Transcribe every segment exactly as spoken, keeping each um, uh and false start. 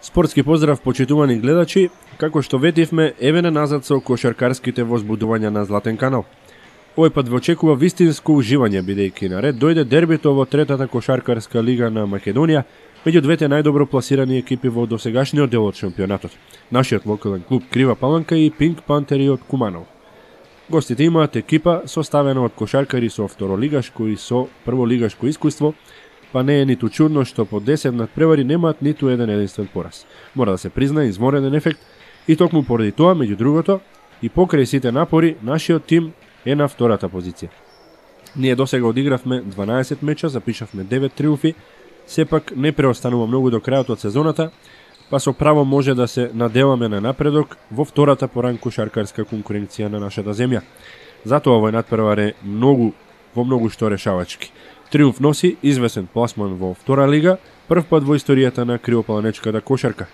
Спортски поздрав, почитувани гледачи, како што ветивме, еве на назад со кошаркарските возбудувања на Златен канал. Овој пат ве очекува вистинско уживање, бидејќи на ред дојде дербито во третата кошаркарска лига на Македонија, меѓу двете најдобро пласирани екипи во досегашниот дел од шампионатот. Нашиот локален клуб Крива Паланка и Пинк Пантери од Куманово. Гостите имаат екипа составена од кошаркари со второлигашко и со прволигашко искуство, па не е ниту чудно што по десет надпревари немаат ниту еден единствен пораз. Мора да се признае изморенен ефект и токму поради тоа, меѓу другото, и покрај сите напори, нашиот тим е на втората позиција. Ние досега одигравме дванаесет меча, запишавме девет триумфи, сепак не преостанува многу до крајот од сезоната, па со право може да се надеваме на напредок во втората по ранг кошаркарска конкуренција на нашата земја. Затоа овој надпревар е многу, во многу што решавачки. Триумф носи извесен пласман во втора лига, прв пат во историјата на кривопаланечката кошарка.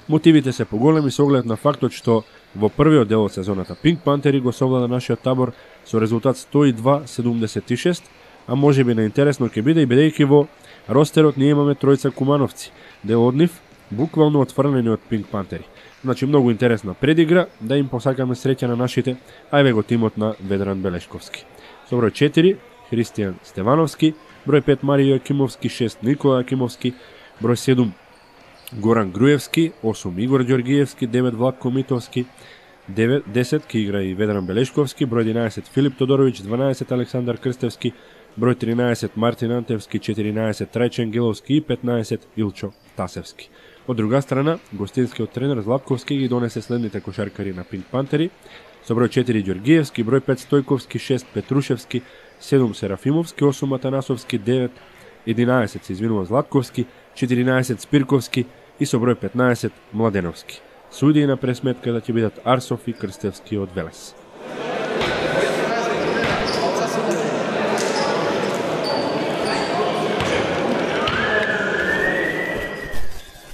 Мотивите се поголеми со оглед на фактот што во првиот дел од сезоната Пинк Пантери го совлада нашиот табор со резултат сто и два седумдесет и шест, а можеби наинтересно ќе биде и бидејќи во ростерот ние имаме тројца кумановци, дел од нив буквално отфрлени од Пинк Пантери. Значи многу интересна предигра, да им посакаме среќа на нашите, а еве го тимот на Ведран Белешковски. Со број четири Христијан Стевановски, број пет Марио Акимовски, шест Никола Акимовски, број седум Горан Груевски, осум Игор Ѓоргиевски, девет Владко Митовски, девет, десет ки игра и Ведран Белешковски, број единаесет Филип Тодоровиќ, дванаесет Александар Крстевски, број тринаесет Мартин Антевски, четиринаесет Трајчен Геловски и петнаесет Илчо Тасевски. Од друга страна, гостинскиот тренер Златковски ги донесе следните кошаркари на Пинк Пантери, со број четири Ѓоргиевски, број пет Стојковски, шест Петрушевски, седум Серафимовски, осум Атанасовски, девет, единаесет се извинува Златковски, четиринаесет Спирковски и со број петнаесет Младеновски. Судии на пресметката ќе бидат Арсов и Крстевски од Велес.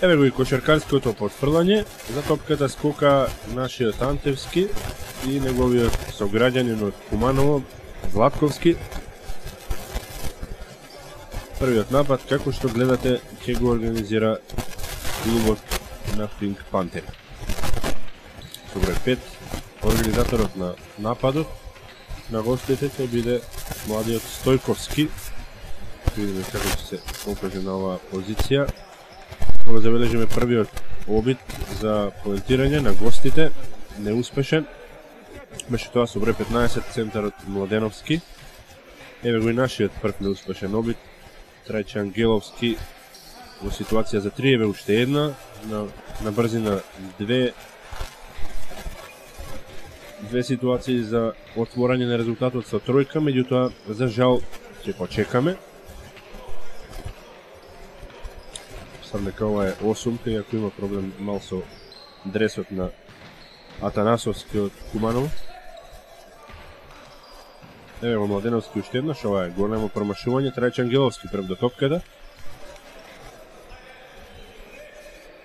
Еве го и кошаркарското потфрлање, за топката скока нашиот Антевски и неговиот сограѓанин од Куманово, Златковски. Првиот напад, како што гледате, ќе го организира клубот на Пинк Пантери. Со број пет, организаторот на нападот на гостите ќе биде младиот Стојковски. Видиме како ќе се покаже на оваа позиција. Кога забележиме првиот обид за поентирање на гостите, неуспешен. Беше тоа со број петнаесет центарот Младеновски. Еве го и нашиот прв неуспешен обид. Трајчан Геловски во ситуација за три, еве уште една, на, на брзина две две ситуации за отворање на резултатот со тројка, меѓутоа за жал ќе почекаме. Нека ова е осумка, иако има проблем мал со дресот на Атанасовски од Куманово. Еве го Младеновски уште еднаш, ова е големо промашување, Трајчан Геловски прв до топката.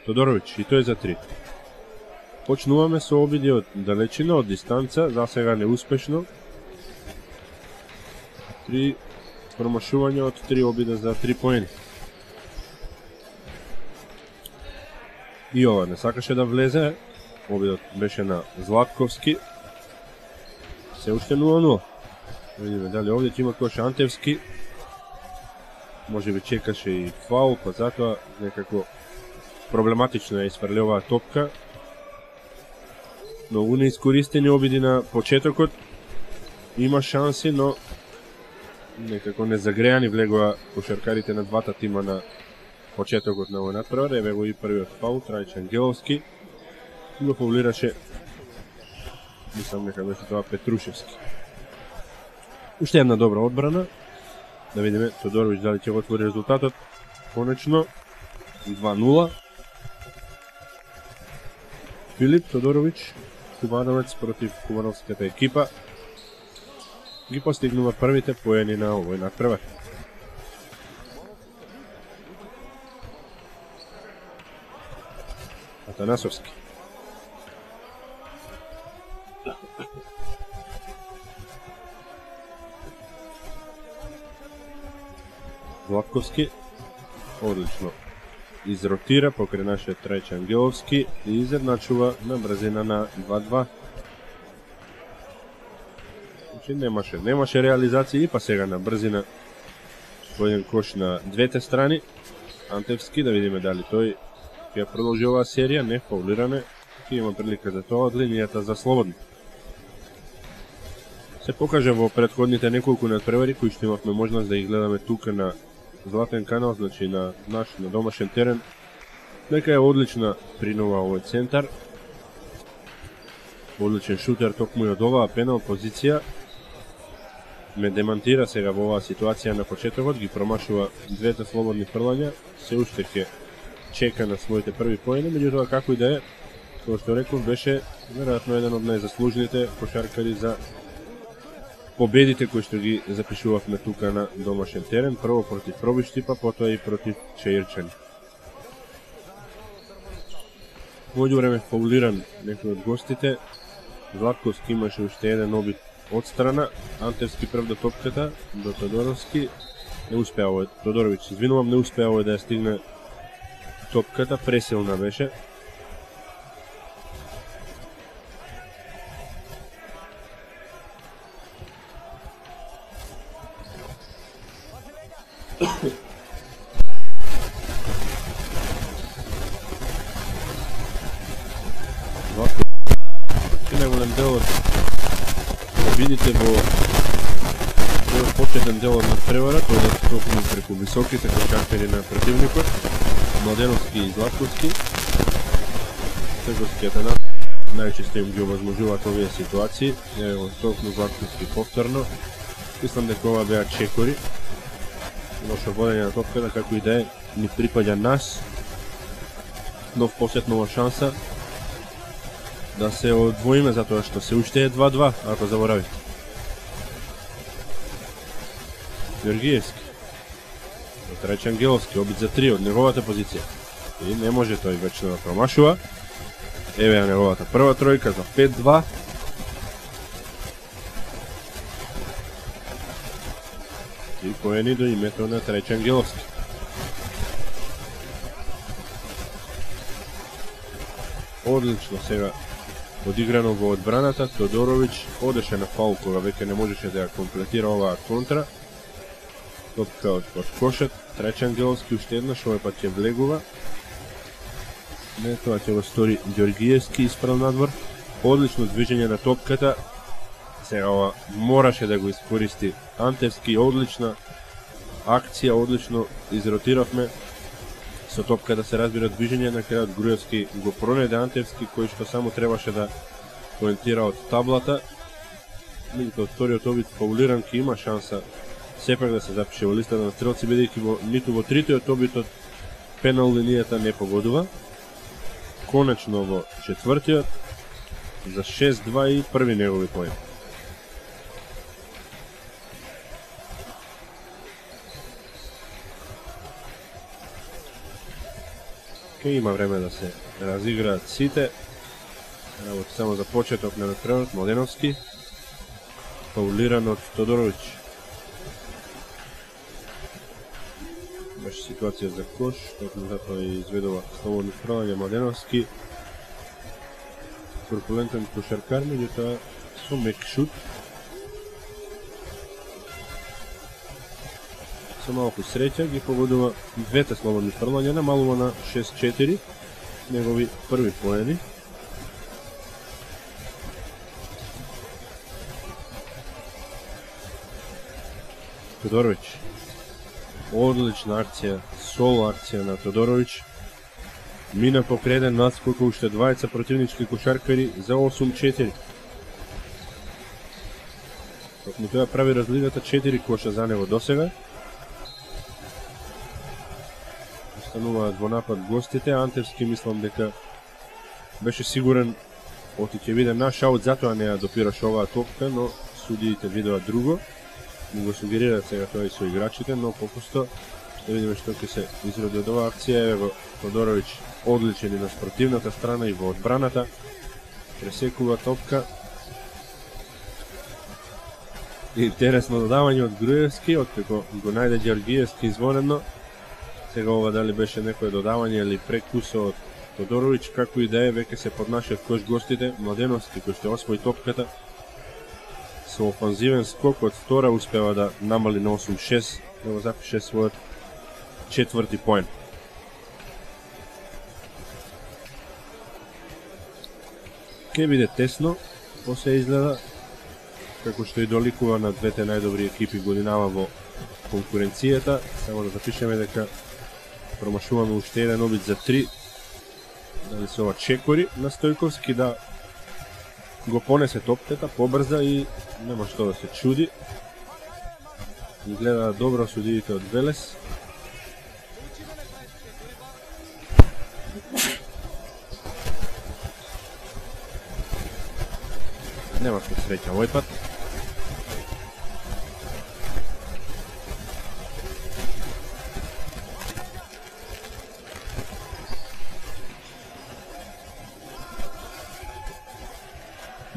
Тодоровиќ, и тој за три. Почнуваме со обиди од далечина, од дистанца, за сега неуспешно. Три промашувања од три обида за три поени. И ова не сакаше да влезе, обидот беше на Златковски. Се уште нула нула. Видиме дали овде ќе има кош Антевски. Може би чекаше и фаул, па затоа некако проблематично е изфрли оваа топка. Многу неискористени обиди на почетокот. Има шанси, но некако незагреани влегоа кошаркарите на двата тима на почетокот на овој надпревар. Еве го и првиот фаул, Трајчан Геловски. Го фаулираше, мислам нека беше тоа Петрушевски. Уште една добра одбрана. Да видиме Тодоровиќ дали ќе го отвори резултатот. Конечно, два нула. Филип Тодоровиќ, кумановец против кумановската екипа, ги постигнува првите поени на овој надпревар. Атанасовски. Златковски. Одлично изротира покрај нашиот Трајче Ангеловски и изедначува на брзина на два-два. Значи немаше, немаше реализација и па сега на брзина по еден кош на двете страни. Антевски, да видиме дали тој ќе продолжи оваа серија, не фаулиране, ќе има прилика за тоа од линијата за слободно. Се покажа во претходните неколку надпревари кои што имавме можност да ги гледаме тука на Златен канал, значи на наш на домашен терен. Дека е одлична принова овој центар. Одличен шутер токму и од оваа пенал позиција. Ме демантира сега во оваа ситуација на почетокот, ги промашува двете слободни фрлања, се уште ќе чека на своите први поени, меѓутоа како и да е, како што реков, беше веројатно еден од најзаслужните кошаркари за победите кои што ги запишувавме тука на домашен терен, прво против Пробишти, па потоа и против Чаирчани. Меѓу време фаулиран некој од гостите, Златковски имаше уште еден обид од страна, Антевски прв до топката, до Тодоровски, не успеа овој, Тодоровиќ, извинувам, не успеа овој да ја стигне топката, пресилна беше. Најголем дел од видите во овој почетен дел од надпревара, тој да токму преку високите кошаркари на противникот, Младеновски и Златковски. Црковскиот е најчесто им ги овозможуваат овие ситуации, ево токму Златковски повторно. Мислам дека ова беа чекори. Лошо водење на топката, како и да е, ни припаѓа нас. Нов посет, нова шанса да се одвоиме, затоа што се уште е два-два, ако заборавите. Георгиевски. Трајче Ангеловски, обид за три од неговата позиција. И не може тој вечно да промашува. Еве ја неговата прва тројка за пет-два. И поени до името на Трајче Ангеловски. Одлично сега одиграно во одбраната. Тодоровиќ одеше на фаул кога веќе не можеше да ја комплетира оваа контра. Топка од кошет, Трајче Ангеловски уште еднаш, овој пат ќе влегува. Не, тоа ќе го стори Ѓоргиевски исправ надвор. Одлично движење на топката. Сега ова мораше да го искористи Антевски, одлична акција, одлично изротиравме. Со топката се разбира движење, на крајот Груевски го пронеде Антевски, кој што само требаше да поентира од таблата. Меѓутоа вториот обид фаулиран, ки има шанса сепак да се запише во листата на стрелци, бидејќи во ниту во тритиот обид од пенал линијата не погодува. Конечно во четвртиот за шест-два и први негови поен. Ке има време да се разиграат сите. Работи само за почеток на надпреварот. Младеновски фаулиран од Тодоровиќ. Беше ситуација за кош, токму затоа и изведува слободно фрлање Младеновски. Корпулентен кошаркар, меѓутоа со мек шут. Со малку среќа ги погодува двете слободни фрлања, намалува на шест-четири, негови први поени. Тодоровиќ. Одлична акција, соло акција на Тодоровиќ. Мина покреден надскока уште двајца противнички кошаркари за осум-четири. Токму тоа прави разликата, четири коша за него досега. Остануваат во напад гостите. Антевски мислам дека беше сигурен оти ќе биде наш аут, затоа не ја допираше оваа топка, но судиите видоа друго. Му го сугерираат сега тоа и со играчите, но попусто да видиме што ќе се изроди од оваа акција. Еве го Тодоровиќ, одличен и на спротивната страна и во одбраната. Пресекува топка. Интересно додавање од Груевски, откако го најде Ѓоргиевски извонедно. Сега ова дали беше некое додавање или прекусо од Тодоровиќ, како и да е, веќе се под нашиот кош гостите, Младеновски, кој што освои топката. Со офанзивен скок од втора успева да намали на осум шест, да го запише својот четврти поен. Ке биде тесно, после изгледа, како што и доликува на двете најдобри екипи годинава во конкуренцијата. Само да запишеме дека промашуваме уште еден обид за три. Дали се ова чекори на Стојковски да го понесе топката побрза и нема што да се чуди. Гледа добро судиите од Велес. Нема што среќа овој пат.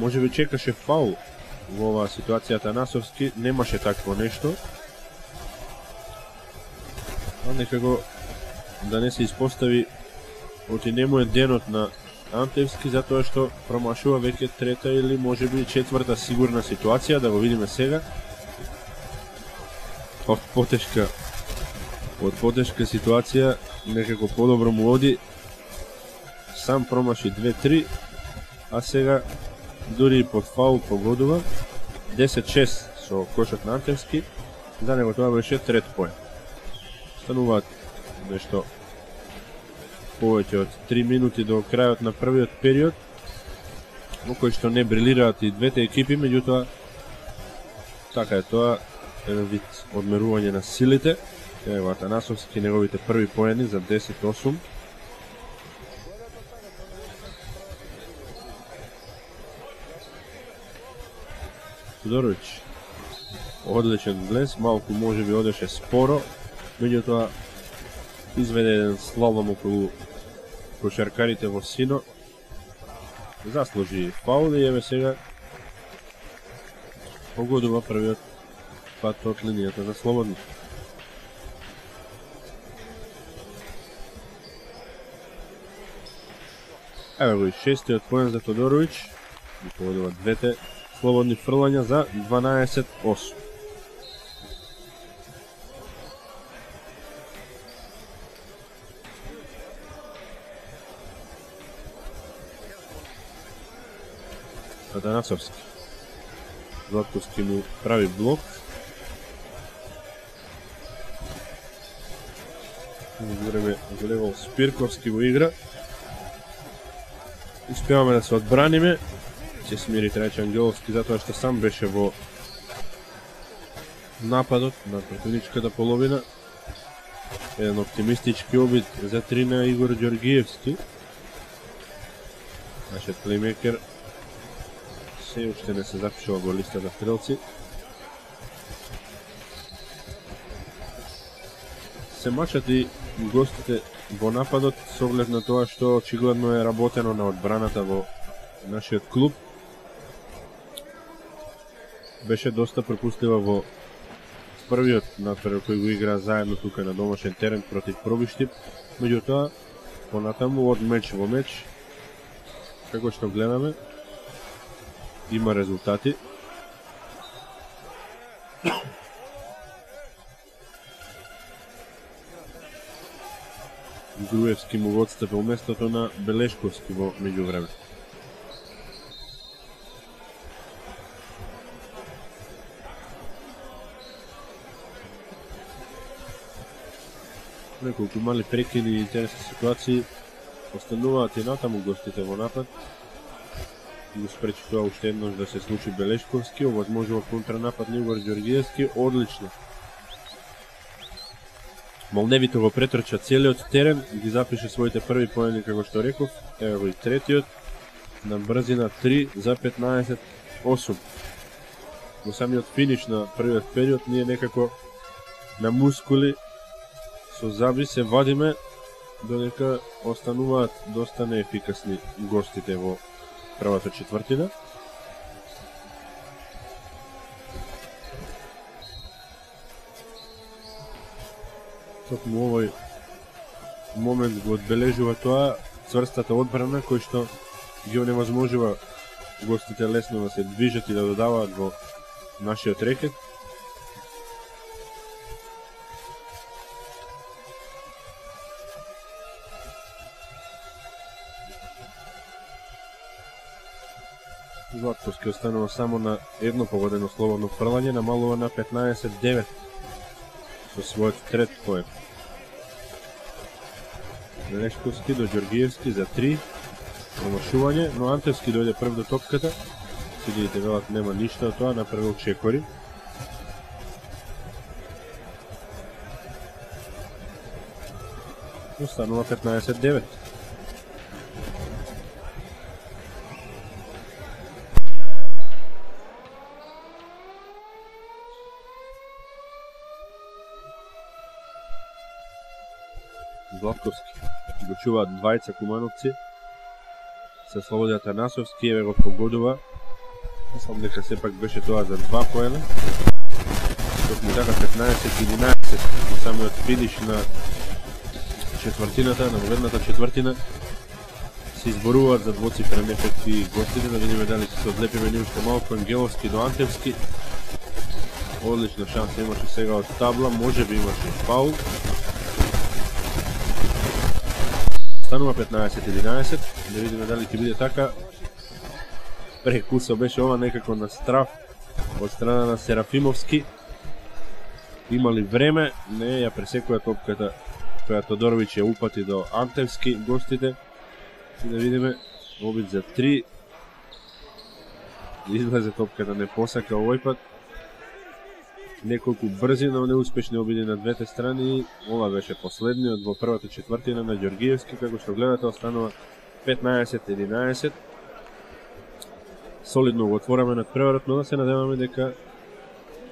Може би чекаше фаул во оваа ситуација Танасовски, немаше такво нешто. А некако да не се испостави оти нему е денот на Антевски, затоа што промашува веќе трета или може би четврта сигурна ситуација, да го видиме сега. Од потешка, од потешка ситуација, некако подобро му оди. Сам промаши две три, а сега дури и под фаул погодува. десет шест со кошот на Антевски, за него тоа беше трет поен. Стануваат нешто повеќе од три минути до крајот на првиот период, во кој што не брилираат и двете екипи, меѓутоа така е тоа, еден вид одмерување на силите. Ево Атанасовски, неговите први поени за десет осум. Тодоровиќ, одличен блес, малку може би одеше споро, меѓутоа изведе еден слалом околу кошаркарите во Сино. Заслужи фаул и еве сега погодува првиот пат од линијата за слободни. Еве го и шестиот поен за Тодоровиќ, и погодува двете слободни фрлања за дванаесет осум. Атанасовски. Златковски му прави блок. Време влевал Спирковски во игра. Успеваме да се одбраниме. Се смири Трајче Ангеловски затоа што сам беше во нападот на противничката половина. Еден оптимистички обид за три на Игор Ѓоргиевски. Нашиот плеймекер се уште не се запишува во листата стрелци. Се мачат и гостите во нападот со оглед на тоа што очигледно е работено на одбраната во нашиот клуб. Беше доста пропустива во првиот натпревар кој го игра заедно тука на домашен терен против Пробиштип, меѓутоа понатаму од меч во меч, како што гледаме, има резултати. Груевски му го отстапил местото на Белешковски во меѓувреме. Неколку мали прекини и интересни ситуации остануваат и натаму гостите во напад. Го спречи тоа уште еднош да се случи Белешковски, овозможува контранапад на Игор Ѓоргиевски, одлично. Молневите го претрча целиот терен и ги запише своите први поени, како што реков. Ево го и третиот, на брзина три за петнаесет осум. Во самиот финиш на првиот период ние некако на мускули со заби се вадиме, додека остануваат доста неефикасни гостите во првата четвртина. Токму овој момент го одбележува тоа цврстата одбрана кој што ги оневозможува гостите лесно да се движат и да додаваат во нашиот рекет. Златковски останува само на едно погодено слободно фрлање, намалува на петнаесет девет со својот трет поен. Лешковски до Ѓоргиевски за три, промашување, но Антевски дојде прв до топката. Судиите велат нема ништо од тоа, направил чекори. Останува петнаесет девет. Златковски го чуваат двајца кумановци. Се Слобода Атанасовски еве го погодува. Мислам дека сепак беше тоа за два поена. Токму така петнаесет единаесет и самиот финиш на четвртината, на воведната четвртина се изборуваат за двоцифрен ефект и гостите, да видиме дали се одлепиме ни уште малку. Ангеловски до Антевски. Одлична шанса имаше сега од табла, може би имаше фаул. Станува петнаесет единаесет, да видиме дали ќе биде така. Прекусо беше ова некако на страф од страна на Серафимовски. Имали време, не ја пресекува топката која Тодоровиќ ја упати до Антевски гостите. И да видиме обид за три. Излезе топката, не посака овој пат. Неколку брзи, но неуспешни обиди на двете страни. Ова беше последниот во првата четвртина на Ѓоргиевски, како што гледате останува петнаесет единаесет. Солидно го отвораме над преварот, но да се надеваме дека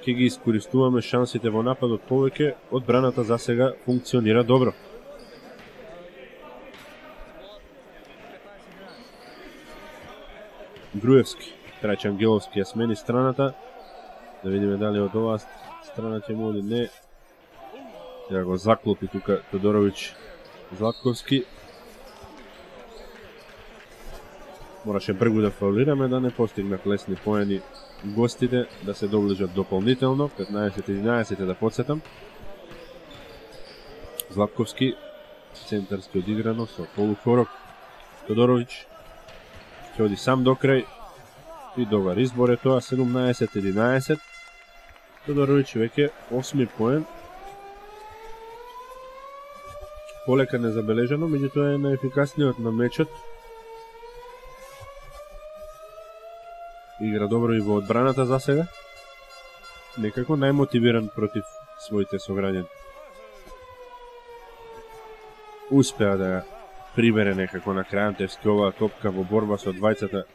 ќе ги искористуваме шансите во нападот повеќе. Одбраната за сега функционира добро. Груевски, Трајче Ангеловски ја смени страната. Да видиме дали од оваа страна ќе му или не. Сега го заклопи тука Тодоровиќ Златковски. Мораше бргу да фаулираме да не постигнат лесни поени гостите, да се доближат дополнително. петнаесет единаесет е да подсетам. Златковски, центарски одиграно со полукорок. Тодоровиќ ќе оди сам до крај. И добар избор е тоа, седумнаесет единаесет. Тодоровиќ веќе осми поен. Полека незабележано, меѓутоа е најефикасниот на мечот. Игра добро и во одбраната за сега. Некако најмотивиран против своите сограѓани. Успеа да ја прибере некако на крај Антевски оваа топка во борба со двајцата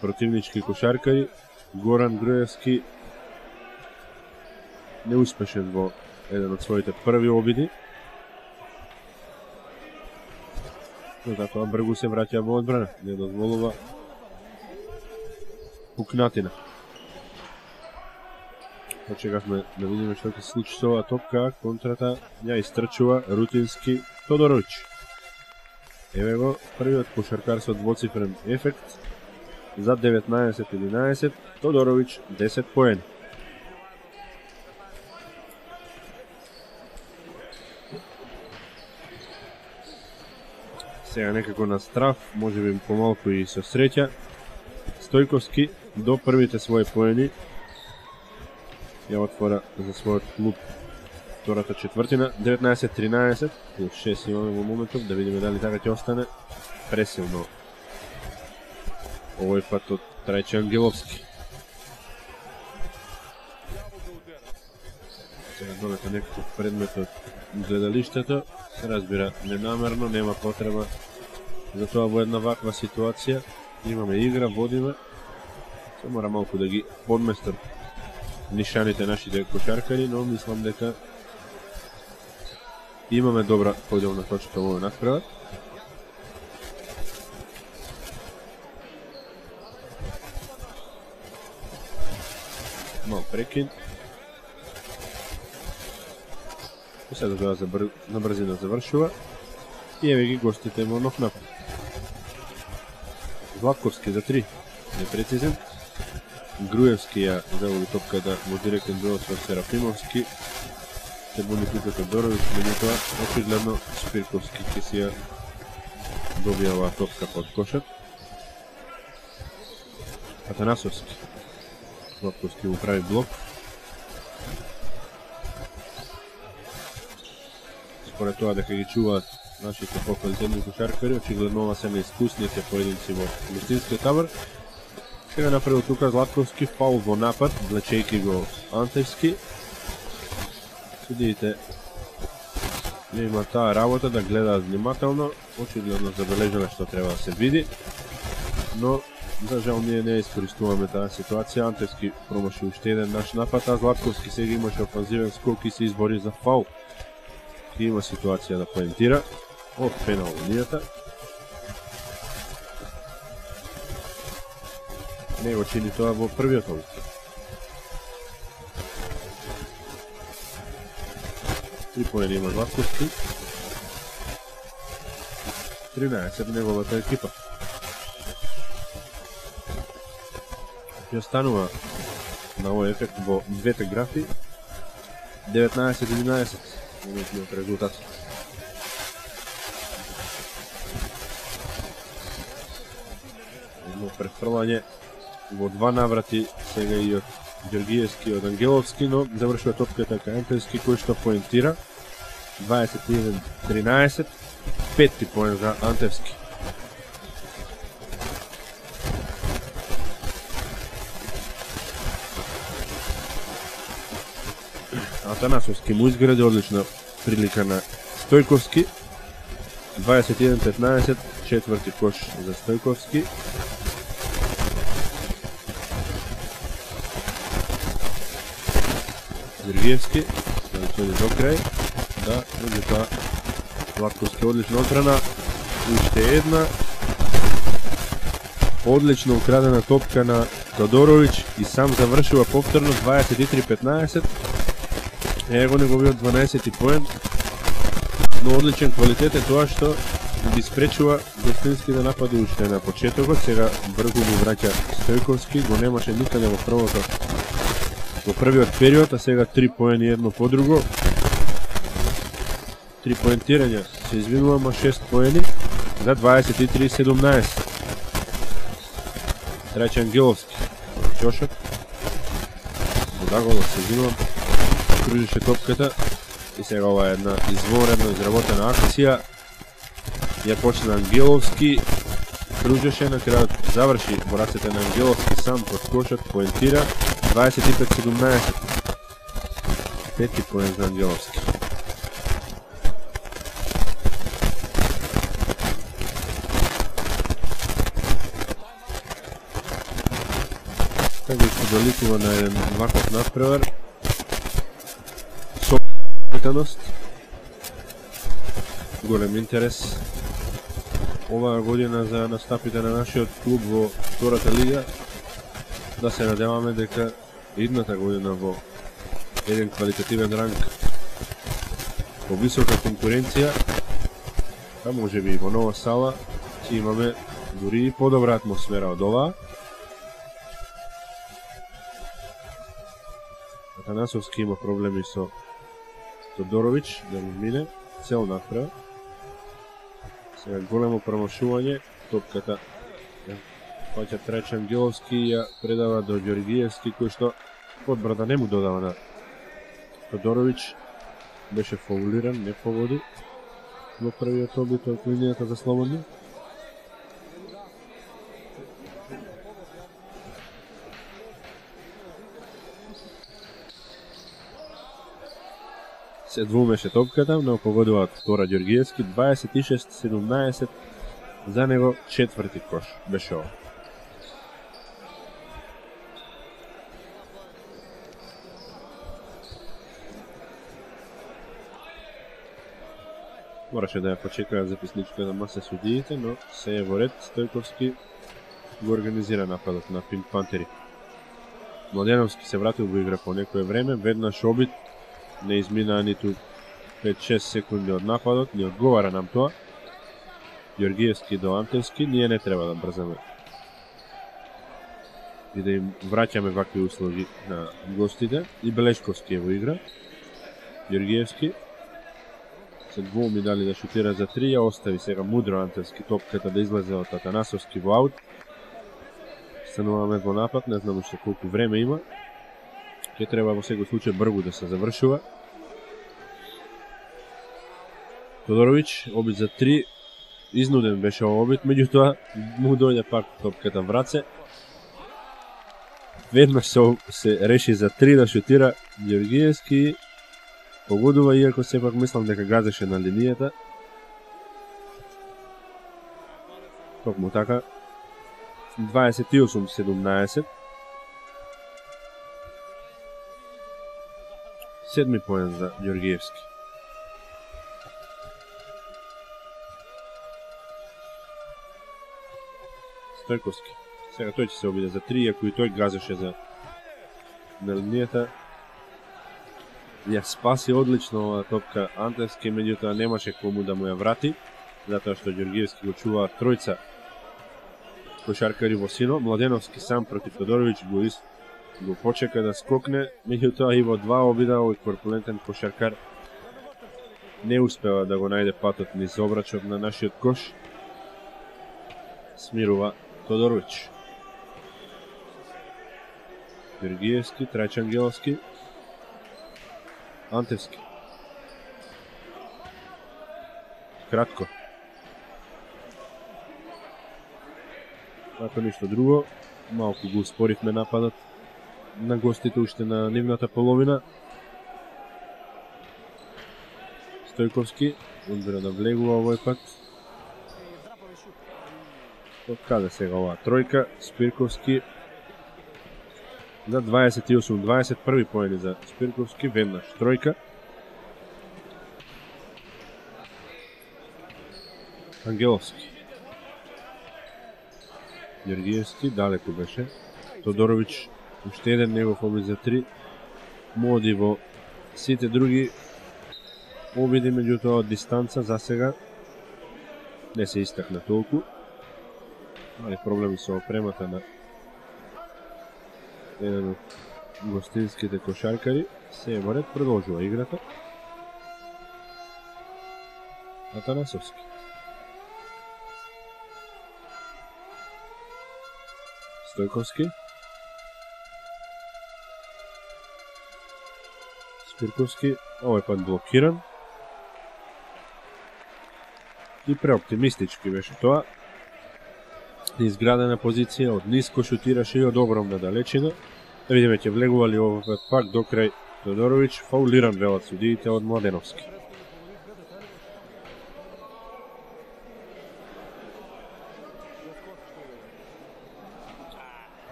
противнички кошаркари. Горан Груевски неуспешен во еден од своите први обиди. Но затоа бргу се враќа во одбрана. Не дозволува пукнатина. Очекавме да видиме што ќе се случи со оваа топка. Контрата ја истрчува рутински Тодоровиќ. Еве го првиот кошаркар со двоцифрен ефект. За деветнаесет единаесет, Тодоровиќ десет поени. Сега некако на страф, може би помалку и со среќа. Стојковски до првите своји поени ја отвора за својот клуб втората четвртина. деветнаесет тринаесет, плюс шест имаме во моментов, да видиме дали така ќе остане. Пресилно овој пат од Трајче Ангеловски. Сега долете некаков предмет од гледалиштето. Се разбира ненамерно, нема потреба за тоа во една ваква ситуација. Имаме игра, водиме. Се мора малку да ги подместат нишаните нашите кошаркари, но мислам дека имаме добра поделна точка во овој надпревар. Мал прекин. И сега тоа забр... на брзина завршува. И еве ги гостите во нов напад. Златковски за три. Непрецизен. Груевски ја заводи топката во директен дуел со Серафимовски. Се буни тука Тодорович, меѓутоа очигледно Спирковски ќе си ја добија оваа топка под кошот. Атанасовски. Златковски му прави блок. Според тоа дека ги чуваат нашите поквалитетни кошаркари, очигледно ова се неискусните поединци во гостинскиот табор. Сега направил тука Златковски фаул во напад, влечејќи го Антевски. Судиите не има таа работа да гледаат внимателно, очигледно забележено што треба да се види, но за жал ние не искористуваме таа ситуација. Антевски промаши уште еден наш напад, а Златковски сега имаше офанзивен скок и се избори за фаул. И има ситуација да поентира од пенал линијата. Не го чини тоа во првиот обид. Три поени има Златковски. тринаесет неговата екипа. Ја станува на овој ефект во двете графи. деветнаесет единаесет моментниот резултат. Едно префрлање во два наврати сега и од Ѓоргиевски и од Ангеловски, но завршува топката кај Антевски кој што поентира. дваесет и еден тринаесет, пети поен за Антевски. Атанасовски му изгради одлична прилика на Стојковски. дваесет и еден петнаесет, четврти кош за Стојковски. Ѓоргиевски, да дојде до крај, да, меѓутоа Златковски одлична одбрана, уште една одлично украдена топка на Тодорович и сам завршува повторно дваесет и три петнаесет. Его неговиот дванаесети поен, но одличен квалитет е тоа што ги спречува гостински да напади уште на почетокот. Сега брзо му враќа Стојковски, го немаше никаде во првото во првиот период, а сега три поени едно по друго. Три поентирања се извинува, ма шест поени за дваесет и три седумнаесет. Трајче Ангеловски, Ќошот, Бодаголов се извинувам, кружеше топката и сега ова е една изворено изработена акција. Ја почна Ангеловски, кружеше, на крајот заврши во рацете на Ангеловски сам под кошот, поентира дваесет и пет седумнаесет. Пети поен за Ангеловски. Така се доликува на еден ваков надпревар. Сометаност. Голем интерес оваа година за настапите на нашиот клуб во втората лига. Да се надеваме дека идната година во еден квалитативен ранг во висока конкуренција, а може би во нова сала, ќе имаме дури и подобра атмосфера од оваа. Атанасовски има проблеми со Тодорович, да му мине, цел напред. Сега големо промашување, топката паќа Трајче Ангеловски и ја предава до Ѓоргиевски, кој што одбрана не му додава на Тодорович. Беше фаулиран, не погоди во првиот обид од линијата за слободни. Се двумеше топката, но погодуваат втора Ѓоргиевски, дваесет и шест седумнаесет, за него четврти кош беше ова. Мораше да ја почекаат записничката маса судиите, но се е во ред. Стојковски го организира нападот на Пинк Пантери. Младеновски се вратил во игра по некое време, веднаш обид, не изминаа ниту пет-шест секунди од нападот, не одговара нам тоа. Ѓоргиевски до Антевски, ние не треба да брзаме и да им враќаме вакви услуги на гостите. И Белешковски е во игра. Ѓоргиевски се двоуми дали да шутира за три, ја остави сега мудро Антевски топката да излезе од Атанасовски во аут. Стануваме во напад, не знам уште колку време има. Ќе треба во секој случај бргу да се завршува. Тодоровиќ, обид за три, изнуден беше овој обид, меѓутоа му дојде пак топката в раце. Веднаш се, се реши за три да шутира Ѓоргиевски, погодува, иако сепак мислам дека газеше на линијата. Токму така, дваесет и осум седумнаесет. Седми поен за Ѓоргиевски. Стојковски. Сега тој ќе се обиде за три, иако и тој газеше за на линијата. Ја спаси одлично оваа топка Антевски, меѓутоа немаше кому да му ја врати, затоа што Ѓоргиевски го чуваа тројца кошаркари во сино. Младеновски сам против Тодоровиќ го, из... го почека да скокне, меѓутоа и во два обида овој корпулентен кошаркар не успева да го најде патот низ обрачот на нашиот кош. Смирува Тодоровиќ. Ѓоргиевски, Трајчангеловски, Антевски. Кратко. Ако ништо друго, малку го успоривме нападот на гостите уште на нивната половина. Стојковски, одбрана влегува овој пат. Од каде сега оваа тројка? Спирковски на дваесет и осум дваесет, први поени за Спирковски, веднаш тројка. Ангеловски. Ѓоргиевски, далеку беше. Тодоровиќ, уште еден негов обид за три. Моди во сите други обиди, меѓутоа од дистанца за сега не се истакна толку. Али проблеми со опремата на еден од гостинските кошаркари. Се е во ред, продолжува играта. Атанасовски. Стојковски. Спирковски, овој пат блокиран. И преоптимистички беше тоа. Изградена позиција, од ниско шутираше и од огромна далечина. Да видиме, ќе влегува ли овој пат пак до крај Тодоровиќ. Фаулиран велат судиите од Младеновски.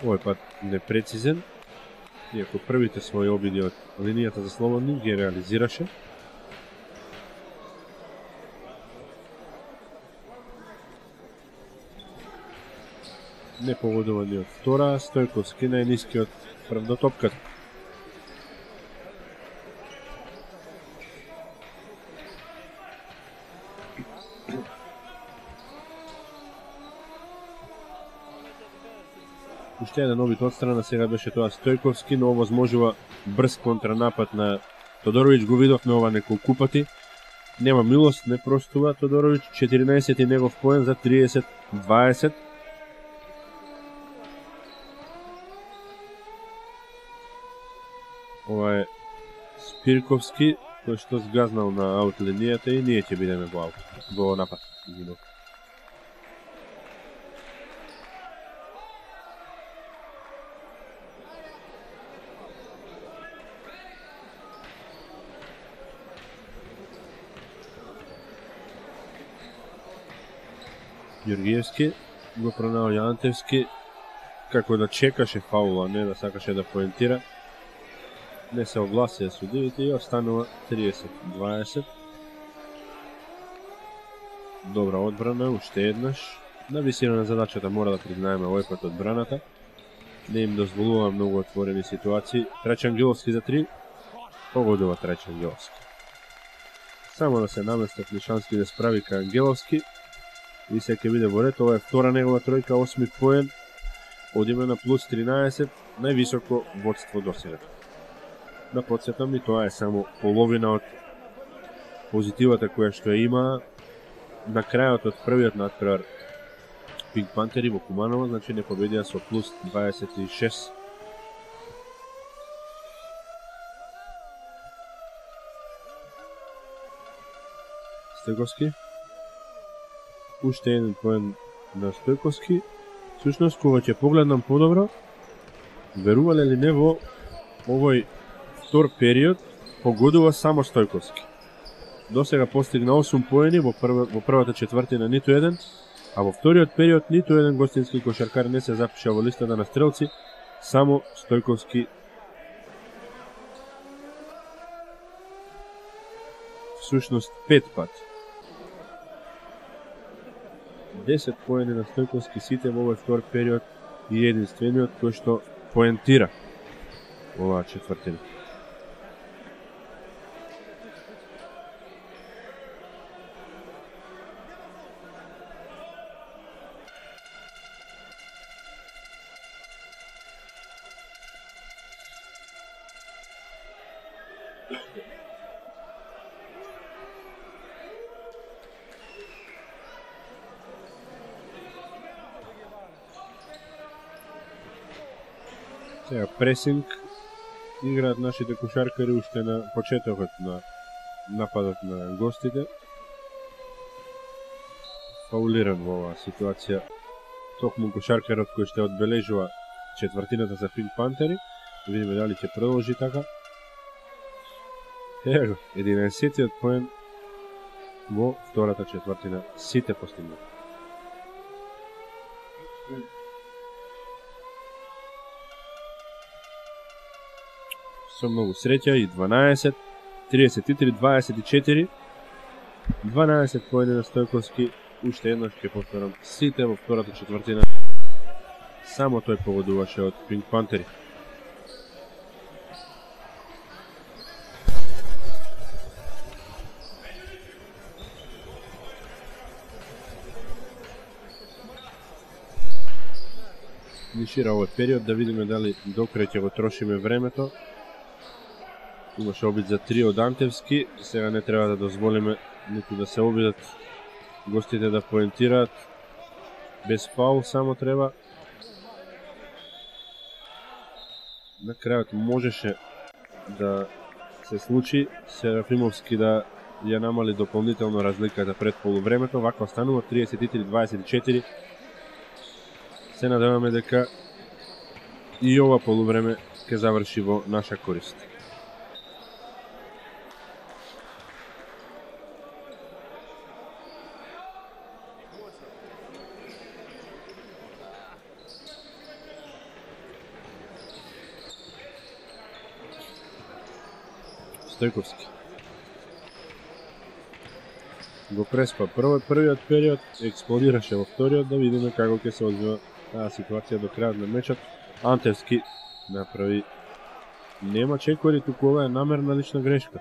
Овој пат непрецизен, иако првите своји обиди од линијата за слободни ги реализираше. Не погодува ни од втора, Стојковски најниски од прв до топката. Уште еден обид од страна, сега беше тоа Стојковски, но овозможува брз контранапад на Тодоровиќ, го видовме ова неколку пати. Нема милост, не простува Тодоровиќ, четиринаесет негов поен за триесет дваесет. Ова е Спирковски, кој што сгазнал на аут линијата и ние ќе бидеме во аут, во напад. Ѓоргиевски го пронаоѓа Антевски, како да чекаше фаула, не да сакаше да поентира. Не се огласија судиите и останува триесет дваесет. Добра одбрана, уште еднаш. На висина на задачата мора да признаеме овој пат одбраната. Не им дозволува многу отворени ситуации. Трајчангеловски за три. Погодува Трајчангеловски. Само да се наместат Лишански да справи кај Ангеловски. И се ќе биде во ред, ова е втора негова тројка, осми поен. Одиме на плюс тринаесет, највисоко водство до сега. Да подсетам и тоа е само половина од позитивата која што ја има на крајот од првиот натпревар Пинк Пантери во Куманово, значи не победија со плюс дваесет и шест. Стојковски. Уште еден поен на Стојковски. Сушност, кога ќе погледнам подобро, верувале ли не во овој втор период, погодува само Стојковски. До сега постигна осум поени, во, прва, во првата четвртина ниту еден, а во вториот период ниту еден гостински кошаркар не се запиша во листата на стрелци, само Стојковски. Всушност пет пати. десет поени на Стојковски, сите во овој втор период и единствениот кој што поентира оваа четвртина. Сега пресинг играат нашите кошаркари уште на почетокот на нападот на гостите. Фаулиран во оваа ситуација токму кошаркарот кој ще одбележува четвртината за Пинк Пантери. Да видиме дали ќе продолжи така. Его, единаесеттиот поен во втората четвртина, сите постигнати. Со многу среќа и дванаесет, триесет и три, дваесет и четири, дванаесет поени на Стојковски, уште еднаш ќе повторам, сите во втората четвртина, само тој погодуваше од Пинк Пантери. Нишира овој период, да видиме дали докрај ќе го трошиме времето. Имаше обид за три од Антевски, сега не треба да дозволиме ниту да се обидат гостите да поентираат. Без фаул само треба. На крајот можеше да се случи Серафимовски да ја намали дополнително разликата пред полувремето, вака останува триесет и три дваесет и четири. Се надеваме дека и ова полувреме ќе заврши во наша корист. Стојковски го преспа прво првиот период, експлодираше во вториот, да видиме како ќе се одвива таа ситуација до крајот на мечот. Антевски направи нема чекори, туку ова е намерна лична грешка.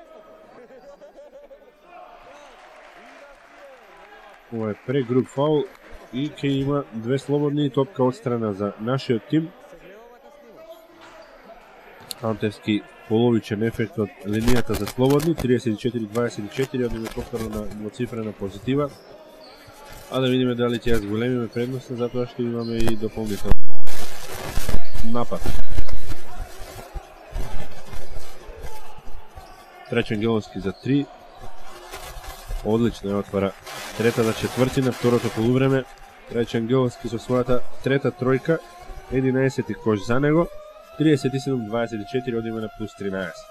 Ова е прегруп фаул и ќе има две слободни топка отстрана за нашиот тим. Антевски половичен ефект од линијата за слободни, триесет и четири дваесет и четири, одиме повторно на двоцифрена позитива. А да видиме дали ќе ја зголемиме предноста, затоа што имаме и дополнително напад. Тречен Ангеловски за три. Одлично ја отвара третата четвртина, второто полувреме. Тречен Ангеловски со својата трета тројка, единаесети кош за него. триесет и седум дваесет и четири, одиме на плюс тринаесет.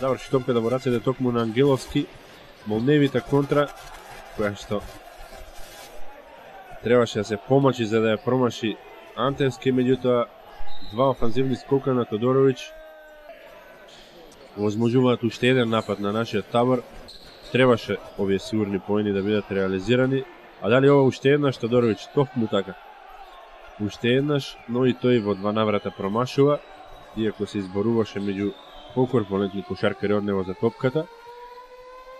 Заврши топката во рацете токму на Ангеловски. Молневита контра, која што требаше да се помачи за да ја промаши Антевски, меѓутоа два офанзивни скока на Тодоровиќ возможуваат уште еден напад на нашиот табор. Требаше овие сигурни поени да бидат реализирани. А дали ова уште еднаш Тодоровиќ токму така? Уште еднаш, но и тој во два наврата промашува. иако се изборуваше меѓу покорпулентни кошаркари од него за топката.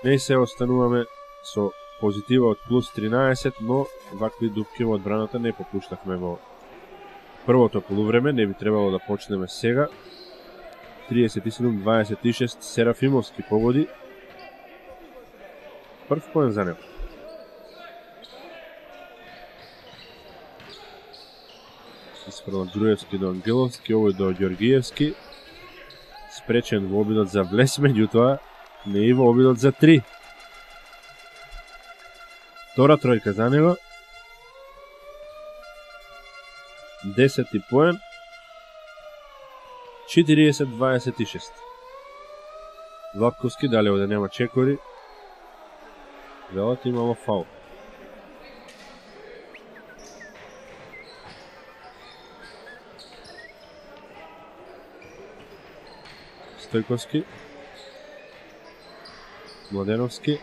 Не се остануваме со позитива од плюс тринаесет, но вакви дупки во одбраната не попуштавме во првото полувреме, не би требало да почнеме сега. триесет и седум дваесет и шест Серафимовски погоди. Прв поен за него. Испрва Груевски до Ангеловски, овој до Ѓоргиевски. Спречен во обидот за влез, меѓутоа не и во обидот за три. Втора тројка за него. Десети поен. четириесет дваесет и шест. Златковски далеко да нема чекори. Велат имало фаул. Стојковски. Младеновски.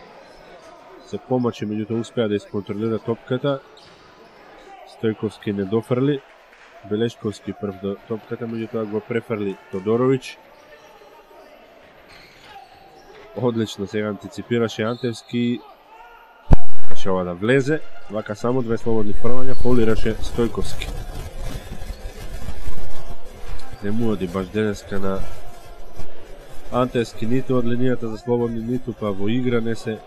Се помачи, меѓутоа успеа да исконтролира топката. Стојковски не дофрли. Белешковски прв до топката, меѓутоа го префрли Тодорович. Одлично сега антиципираше Антевски. Каше ова да влезе. Вака само две слободни фрлања фаулираше Стојковски. Не му оди баш денеска на Антевски ниту од линијата за слободни, ниту па во игра не се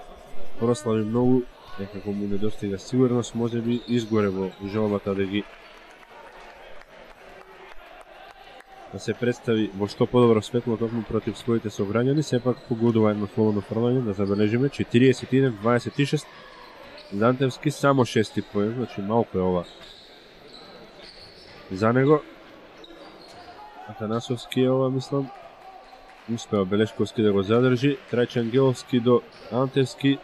прослави многу. Некако му недостига сигурност, може би изгоре во желбата да ги да се представи во што подобро светло токму против своите собрањани, сепак погодува едно слободно фрлање, да забележиме четириесет и еден дваесет и шест. Антевски само шести поен, значи малку е ова за него. Атанасовски е ова, мислам. Успеа Белешковски да го задржи. Трајче Ангеловски до Антевски.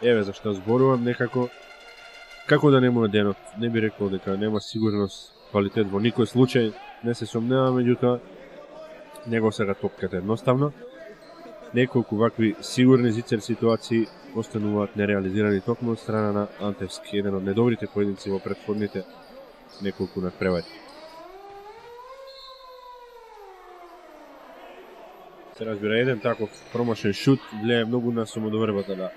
Еве зашто зборувам, некако како да не му е денот. Не би рекол дека нема сигурност, квалитет во никој случај. Не се сомнева, меѓутоа него сега топката едноставно. Неколку вакви сигурни зицер ситуации остануваат нереализирани токму од страна на Антевски, еден од недобрите поединци во претходните неколку надпревари. Се разбира, еден таков промашен шут влијае многу на самодовербата на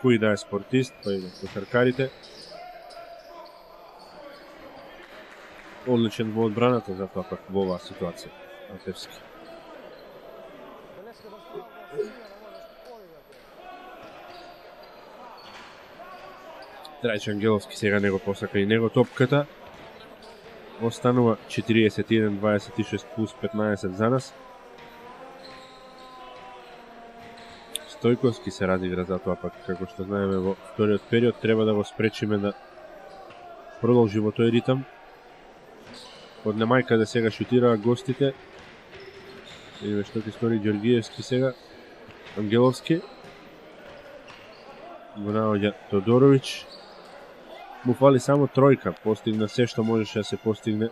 кој да е спортист, па и на кошаркарите. Одличен во одбраната, затоа пак во оваа ситуација Антевски. Трајче Ангеловски сега него посака и него топката. Останува четириесет и еден дваесет и шест плюс петнаесет за нас. Стојковски се разигра, затоа пак, како што знаеме, во вториот период треба да го спречиме да продолжи во тој ритам. Од немајка да сега шутираа гостите. Видиме што ќе стори Ѓоргиевски сега. Ангеловски. Го наоѓа Тодорович. Му фали само тројка, постигна се што можеше да се постигне.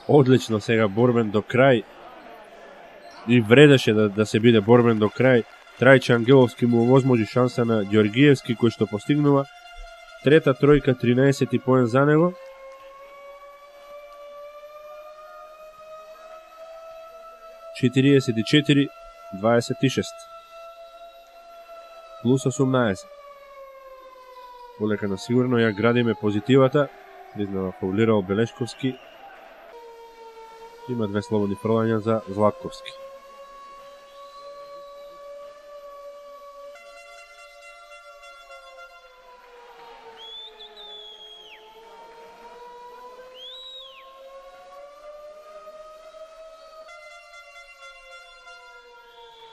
Одлично сега борбен до крај. И вредеше да, да се биде борбен до крај. Трајче Ангеловски му овозможи шанса на Ѓоргиевски, кој што постигнува трета тројка, тринаесети поен за него. четириесет и четири дваесет и шест. Плюс осумнаесет. Полека на сигурно ја градиме позитивата. Признава фаулирал Белешковски. Има две слободни фрлања за Златковски.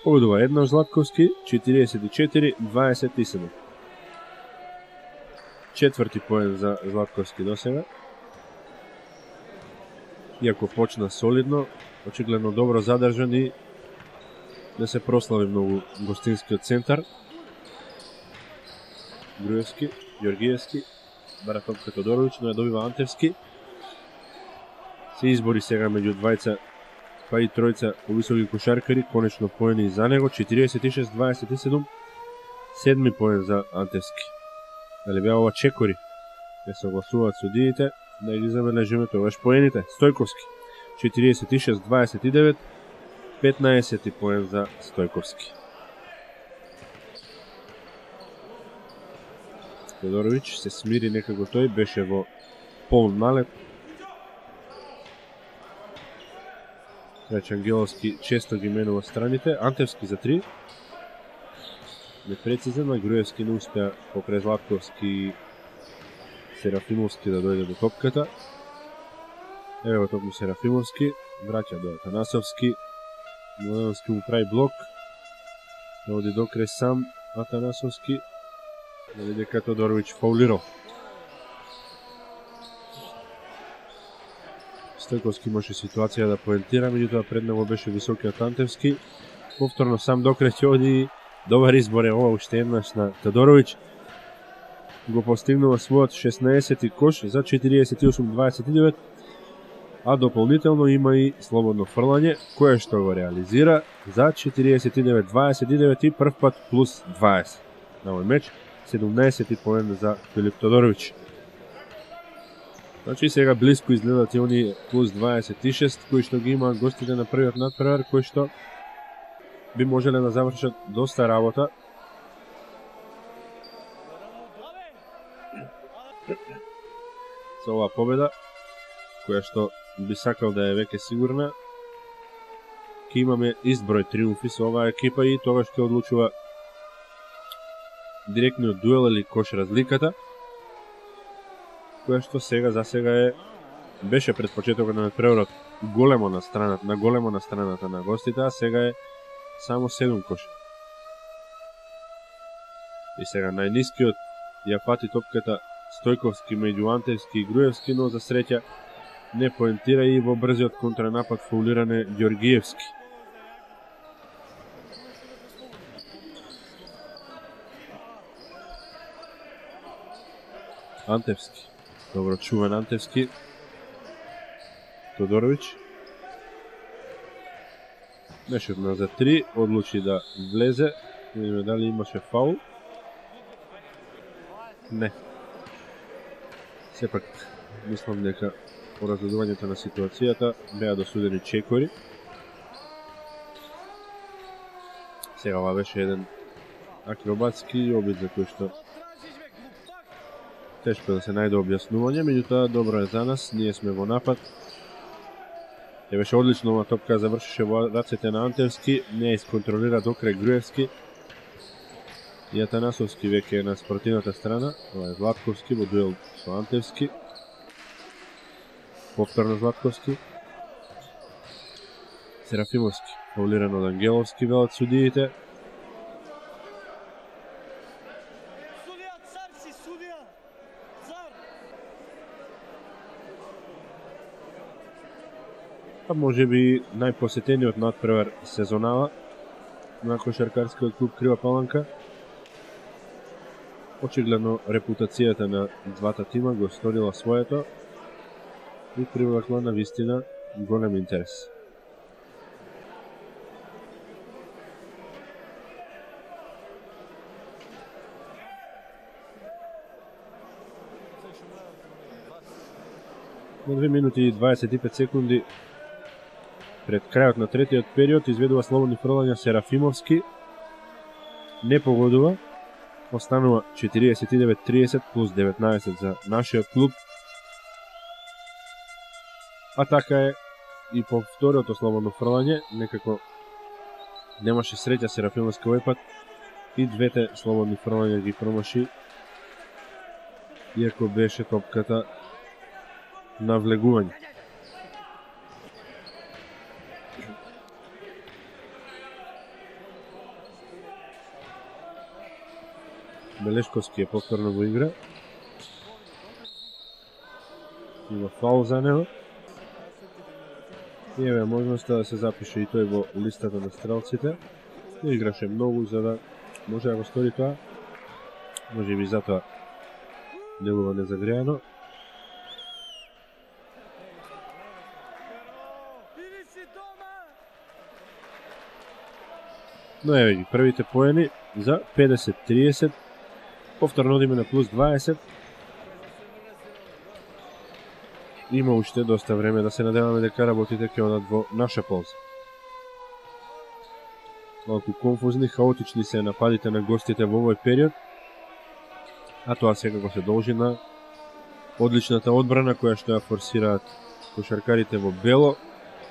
Победува еднаш Златковски, четириесет и четири дваесет и седум. Четврти поен за Златковски до сега. Иако почна солидно, очигледно добро задржан и не се прослави многу гостинскиот центар. Груевски, Ѓоргиевски, бара топка Тодорович, но ја добива Антевски. Се избори сега меѓу двајца па и тројца повисоки кошаркари, конечно поени за него, четириесет и шест дваесет и седум, седми поен за Антевски. Дали беа ова чекори? Не се огласуваат судиите, да ги забележиме тогаш поените. Стојковски, четириесет и шест дваесет и девет, петнаесети поен за Стојковски. Тодоровиќ се смири некако, тој беше во полн налет. Трајче Ангеловски често ги менува страните. Антевски за три. Непрецизен, а Груевски не успеа покрај Златковски и Серафимовски да дојде до топката. Ево токму Серафимовски, враќа до Атанасовски. Младеновски му прави блок. Да оди докрај сам Атанасовски. Дали дека Тодоровиќ фаулирал. Стојковски имаше ситуација да поентира, меѓутоа пред него беше високиот Антевски. Повторно сам докрај ќе оди. Добар избор е ова уште еднаш на Тодоровиќ. Го постигнува својот шеснаесети кош за четириесет и осум дваесет и девет, а дополнително има и слободно фрлање, кое што го реализира за четириесет и девет дваесет и девет и прв пат плюс дваесет. На овој меч седумнаесети поен за Филип Тодоровиќ. Значи сега близко изгледат и они плюс дваесет и шест кои што ги има гостите на првиот надпревар, кои што би можеле да завршат доста работа. Со оваа победа, која што би сакал да е веќе сигурна, ќе имаме изброј триумфи со оваа екипа и тогаш ќе одлучува директниот дуел или кош разликата, која што сега за сега е беше пред почетокот на надпреварот големо на страната, на големо на страната на гостите, а сега е само седум кош. И сега најнискиот ја фати топката Стојковски меѓу Антевски и Груевски, но за среќа не поентира и во брзиот контранапад фаулиране Ѓоргиевски. Антевски. Добро чуван Антевски. Тодоровиќ. Мешевна за три, одлучи да влезе. Не видиме дали имаше фаул. Не. Сепак, мислам дека по разгледувањето на ситуацијата беа досудени чекори. Сега ова беше еден акробатски обид за кој што тешко да се најде објаснување, меѓутоа добро е за нас, ние сме во напад. Е беше одлично, ова топка завршише во рацете на Антевски, не исконтролира докрај Груевски. И Атанасовски веќе е на спротивната страна, ова е Златковски во дуел со Антевски. Повторно Златковски. Серафимовски, фаулиран од Ангеловски, велат судиите. А може би најпосетениот надпревар сезонава на кошаркарскиот клуб Крива Паланка. Очигледно репутацијата на двата тима го сторила своето и привлекла на вистина голем интерес. На две минути и дваесет и пет секунди пред крајот на третиот период изведува слободни фрлања Серафимовски. Не погодува. Останува четириесет и девет тридесет плюс деветнаесет за нашиот клуб. А така е и по вториото слободно фрлање, некако немаше среќа Серафимовски овој пат и двете слободни фрлања ги промаши, иако беше топката на влегување. Белешковски е повторно во игра. Има фаул за него. И еве можноста да се запише и тој во листата на стрелците. Не играше многу за да може да го стори тоа. Може би затоа делува незагреано. Но еве ги првите поени за педесет тридесет. Повторно одиме на плюс дваесет. има уште доста време да се надеваме дека работите ќе одат во наша полза. Малку конфузни, хаотични се нападите на гостите во овој период, а тоа секако се должи на одличната одбрана која што ја форсираат кошаркарите во бело.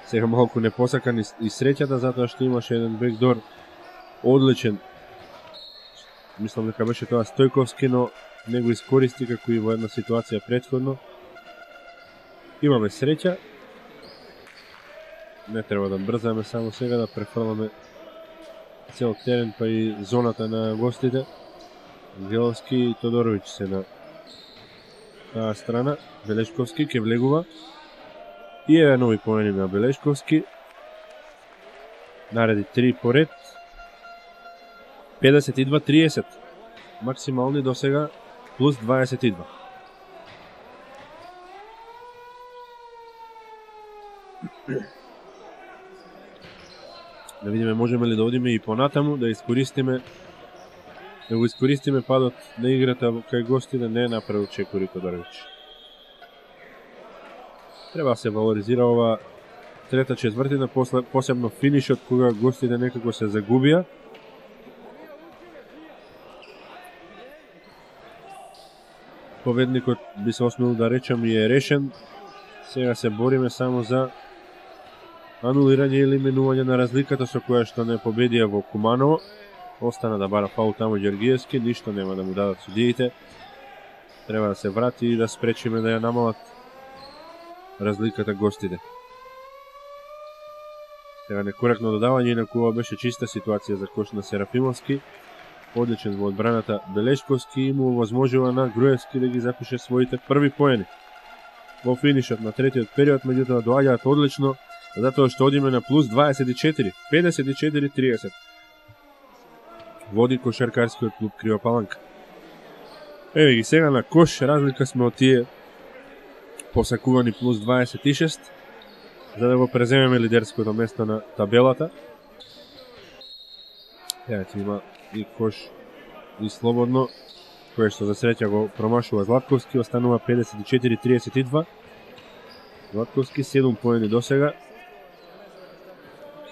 Сега малку непосакан и среќата затоа што имаше еден бекдор одличен. Мислам дека беше тоа Стојковски, но не го искористи како и во една ситуација претходно. Имаме среќа. Не треба да брзаме само сега да префрламе цел терен па и зоната на гостите. Ангеловски и Тодоровиќ се на таа страна. Белешковски ќе влегува. И еве нови поени на Белешковски. Нареди три поред. педесет и два триесет. Максимални до сега плюс дваесет и два. Да видиме можеме ли да одиме и понатаму, да искористиме да го искористиме падот на играта кај гости, да не направи Чекори Тодоровиќ. Треба да се валоризира ова трета четвртина, после, посебно финишот кога гостите некако се загубија. Победникот би се осмел да речем и е решен. Сега се бориме само за анулирање или минување на разликата со која што не победија во Куманово. Остана да бара фаул таму Ѓоргиевски, ништо нема да му дадат судиите. Треба да се врати и да спречиме да ја намалат разликата гостите. Сега некоректно додавање, инаку ова беше чиста ситуација за кош на Серафимовски. Одличен во одбраната Белешковски и му возможува на Груевски да ги запише своите први поени. Во финишот на третиот период, меѓутоа доаѓаат одлично, затоа што одиме на плюс дваесет и четири, педесет и четири триесет. Води кошаркарскиот клуб Крива Паланка. Еве ги сега на кош, разлика сме од тие посакувани плюс дваесет и шест, за да го преземеме лидерското место на табелата. Еве има и кош и слободно, кој што за среќа го промашува Златковски, останува педесет и четири триесет и два. Златковски седум поени до сега.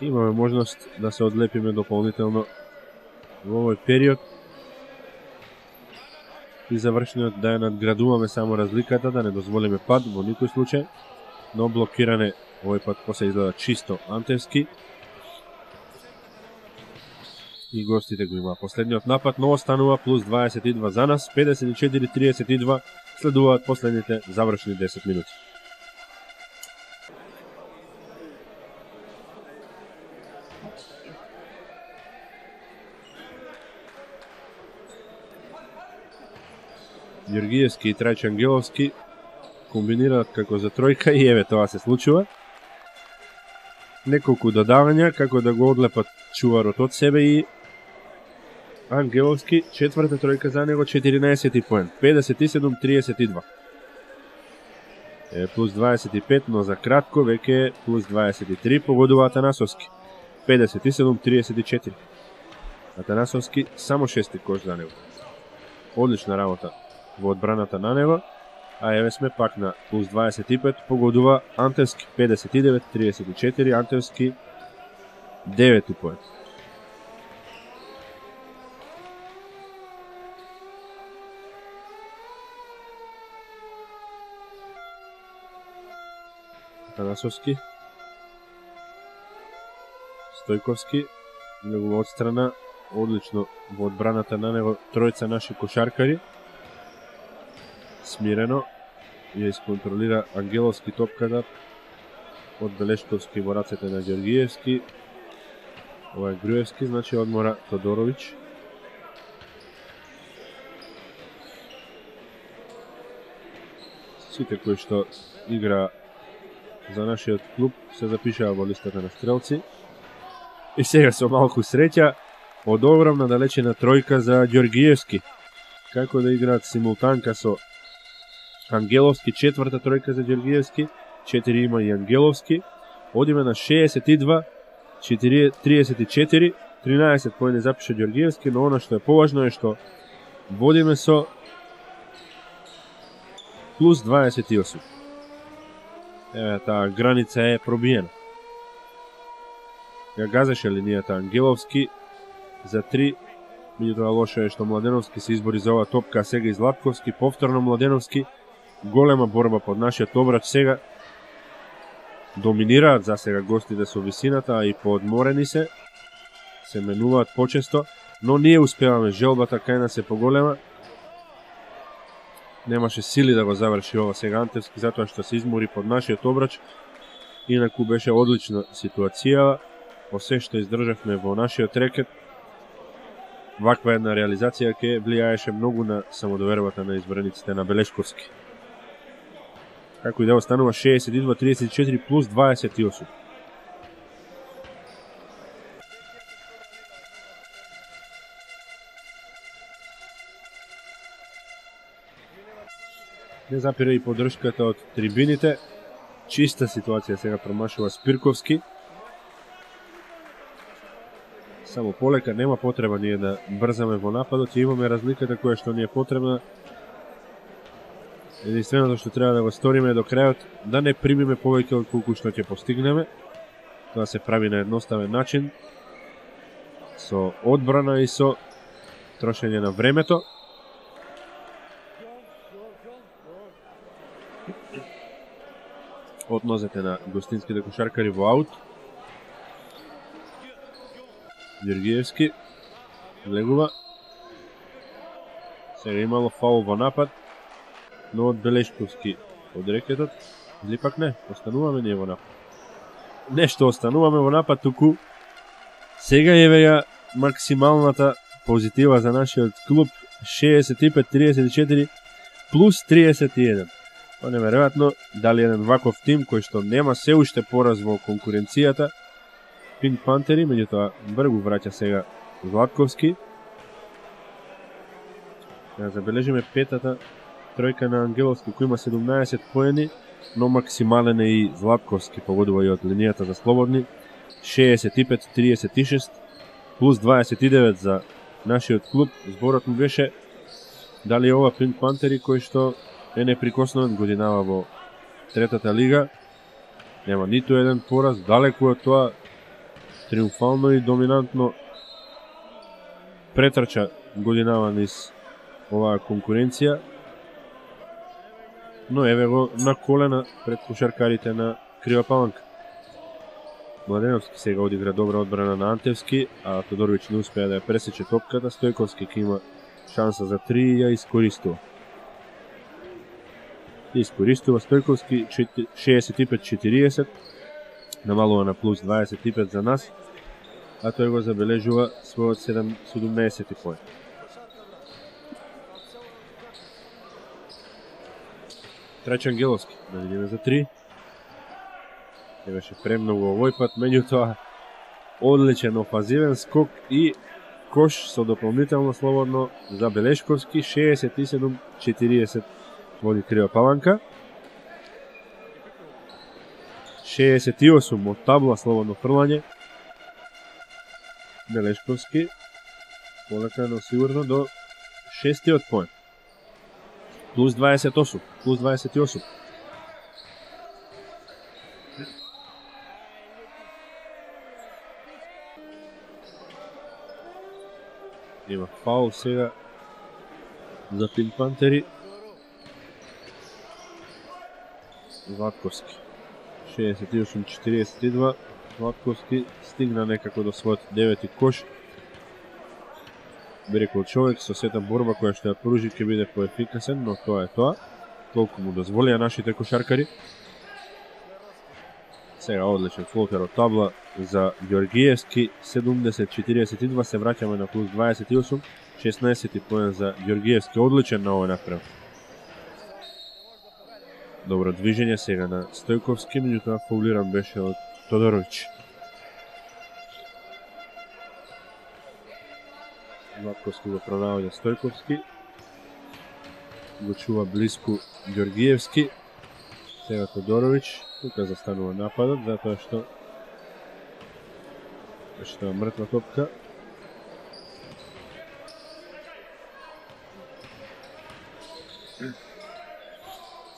Имаме можност да се одлепиме дополнително во овој период и завршниот да ја надградуваме само разликата, да не дозволиме пад во никој случај, но блокиране овој пат после изгледа чисто Антевски. И гостите го има последниот напад, но останува плюс дваесет и два за нас, педесет и четири триесет и два, следуваат последните завршни десет минути. Ѓоргиевски и Трајче Ангеловски комбинираат како за тројка и еве тоа се случува. Неколку додавања како да го одлепат чуварот од себе и Ангеловски, четврта тројка за него, четиринаесети поен, педесет и седум триесет и два. Е, плюс дваесет и пет, но за кратко веќе плюс дваесет и три погодува Атанасовски, педесет и седум триесет и четири. Атанасовски само шести кош за него. Одлична работа во одбраната на него, а еве сме пак на плюс дваесет и пет, погодува Антевски, педесет и девет триесет и четири, Антевски девети поен. Атанасовски, Стојковски, негова одстрана, одлично во одбраната на него тројца наши кошаркари. Смирено ја исконтролира Ангеловски топката од Белешковски во рацете на Ѓоргиевски. Ова е Груевски, значи одмора Тодоровиќ. Сите кои што игра за нашиот клуб се запишаа во листата на стрелци. И сега со малку среќа од огромна далечина тројка за Ѓоргиевски. Како да играат симултанка со Ангеловски, четврта тројка за Ѓоргиевски, четири има и Ангеловски. Одиме на шеесет и два триесет и четири, тринаесет поени запиша Ѓоргиевски, но она што е поважно е што водиме со плюс дваесет и осум. Еве, таа граница е пробиена. Ја газеше линијата Ангеловски за три. Меѓутоа лошо е што Младеновски се избори за оваа топка, а сега и Златковски, повторно Младеновски. Голема борба под нашиот обрач сега. Доминираат за сега гостите со висината, а и поодморени се. Се менуваат почесто, но ние успеваме, желбата кај нас е поголема. Немаше сили да го заврши ова сега Антевски, затоа што се измори под нашиот обрач. Инаку беше одлична ситуација, по се што издржавме во нашиот рекет. Ваква една реализација ќе влијаеше многу на самодовербата на избраниците на Белешковски. Како и да останува шеесет и два тридесет и четири плюс дваесет и осум. Не запира и поддршката од трибините. Чиста ситуација сега промашува Спирковски. Само полека, нема потреба ние да брзаме во нападот и имаме разликата која што ни е потребна. Единственото што треба да го сториме до крајот, да не примиме повеќе од колку што ќе постигнеме. Тоа се прави на едноставен начин, со одбрана и со трошење на времето. Од нозете на гостинските кошаркари во аут. Ѓоргиевски влегува. Сега имало фаул во напад, но од Белешковски од рекетот, или пак не, остануваме ние во напад. Нешто остануваме во напад, туку сега е веја максималната позитива за нашиот клуб, шеесет и пет тридесет и четири плюс триесет и еден. Па неверојатно, дали еден ваков тим кој што нема се уште пораз во конкуренцијата, Пинк Пантери, меѓутоа бргу враќа сега Златковски. Ja забележиме петата тројка на Ангеловски, кој има седумнаесет поени, но максимален е и Златковски, погодува и од линијата за слободни. шеесет и пет тридесет и шест плюс дваесет и девет за нашиот клуб. Зборот му беше дали ова Пинк Пантери кој што е неприкосновен, годинава во третата лига. Нема ниту еден пораз, далеку од тоа, триумфално и доминантно претрча годинава низ оваа конкуренција. Но еве го на колена пред кошаркарите на Крива Паланка. Младеновски сега одигра добра одбрана на Антевски, а Тодоровиќ не успеа да ја пресече топката. Стојковски ке има шанса за три и ја искористува. Искористува Стојковски, шеесет и пет четириесет, намалува на плюс дваесет и пет за нас, а тој го забележува својот седумнаесети поен. Трајчан Ангеловски, да видиме за три. Не беше премногу овој пат, меѓутоа одличен офазивен скок и кош со дополнително слободно за Белешковски. шеесет и седум четириесет води Крива Паланка. шеесет и осум од табла слободно фрлање. Белешковски полека, но сигурно до шестиот поен. Плюс дваесет и осум, плюс дваесет и осум. Има фаул сега за Пинк Пантери. Златковски. шеесет и осум четириесет и два. Златковски стигна некако до својот девети кош. Би рекол човек со сета борба која што ја поружи ќе биде поефикасен, но тоа е тоа. Толку му дозволија нашите кошаркари. Сега одличен флотер од табла за Ѓоргиевски. седумдесет четириесет и два, се враќаме на плюс дваесет и осум. шеснаесети поен за Ѓоргиевски, одличен на овој напрем. Добро движење сега на Стојковски, меѓутоа фаулиран беше од Тодоровиќ. Златковски го пронаоѓа Стојковски. Го чува блиску Ѓоргиевски. Сега Тодоровиќ. Тука застанува нападот, затоа што беше тоа мртва топка.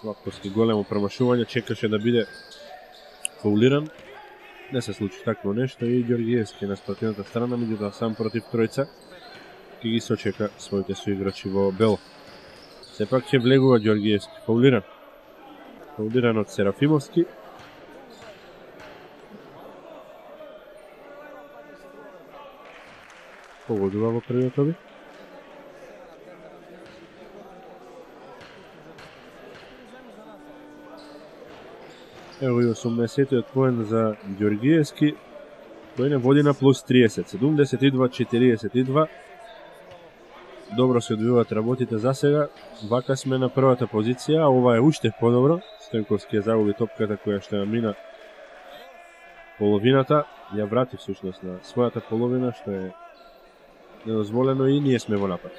Златковски големо промашување, чекаше да биде фаулиран. Не се случи такво нешто и Ѓоргиевски на спротивната страна, меѓутоа сам против тројца ќе ги сочека своите соиграчи во бело. Сепак ќе влегува Ѓоргиевски, фаулиран. Фаулиран од Серафимовски. Погодува во првиот обид. Ево и осумнаесеттиот поен за Ѓоргиевски, кој не води на плюс триесет, седумдесет и два четириесет и два. Добро се одвиваат работите за сега. Вака сме на првата позиција, а ова е уште подобро. Стојковски ја загуби топката која што ја мина половината, ја врати всушност на својата половина, што е недозволено и ние сме во напад.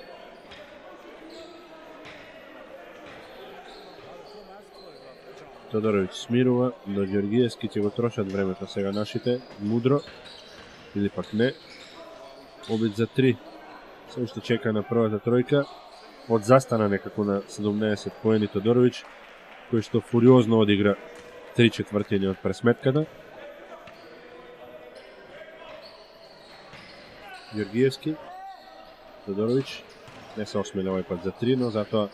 Тодоровиќ смирува, но Ѓоргиевски ќе го трошат времето сега нашите, мудро, или пак не. Обид за три, се уште чека на првата тројка, од застана некако на седумнаесет поени Тодоровиќ, кој што фуриозно одигра три четвртини од пресметката. Ѓоргиевски, Тодоровиќ, не се осмели овој пат за три, но затоа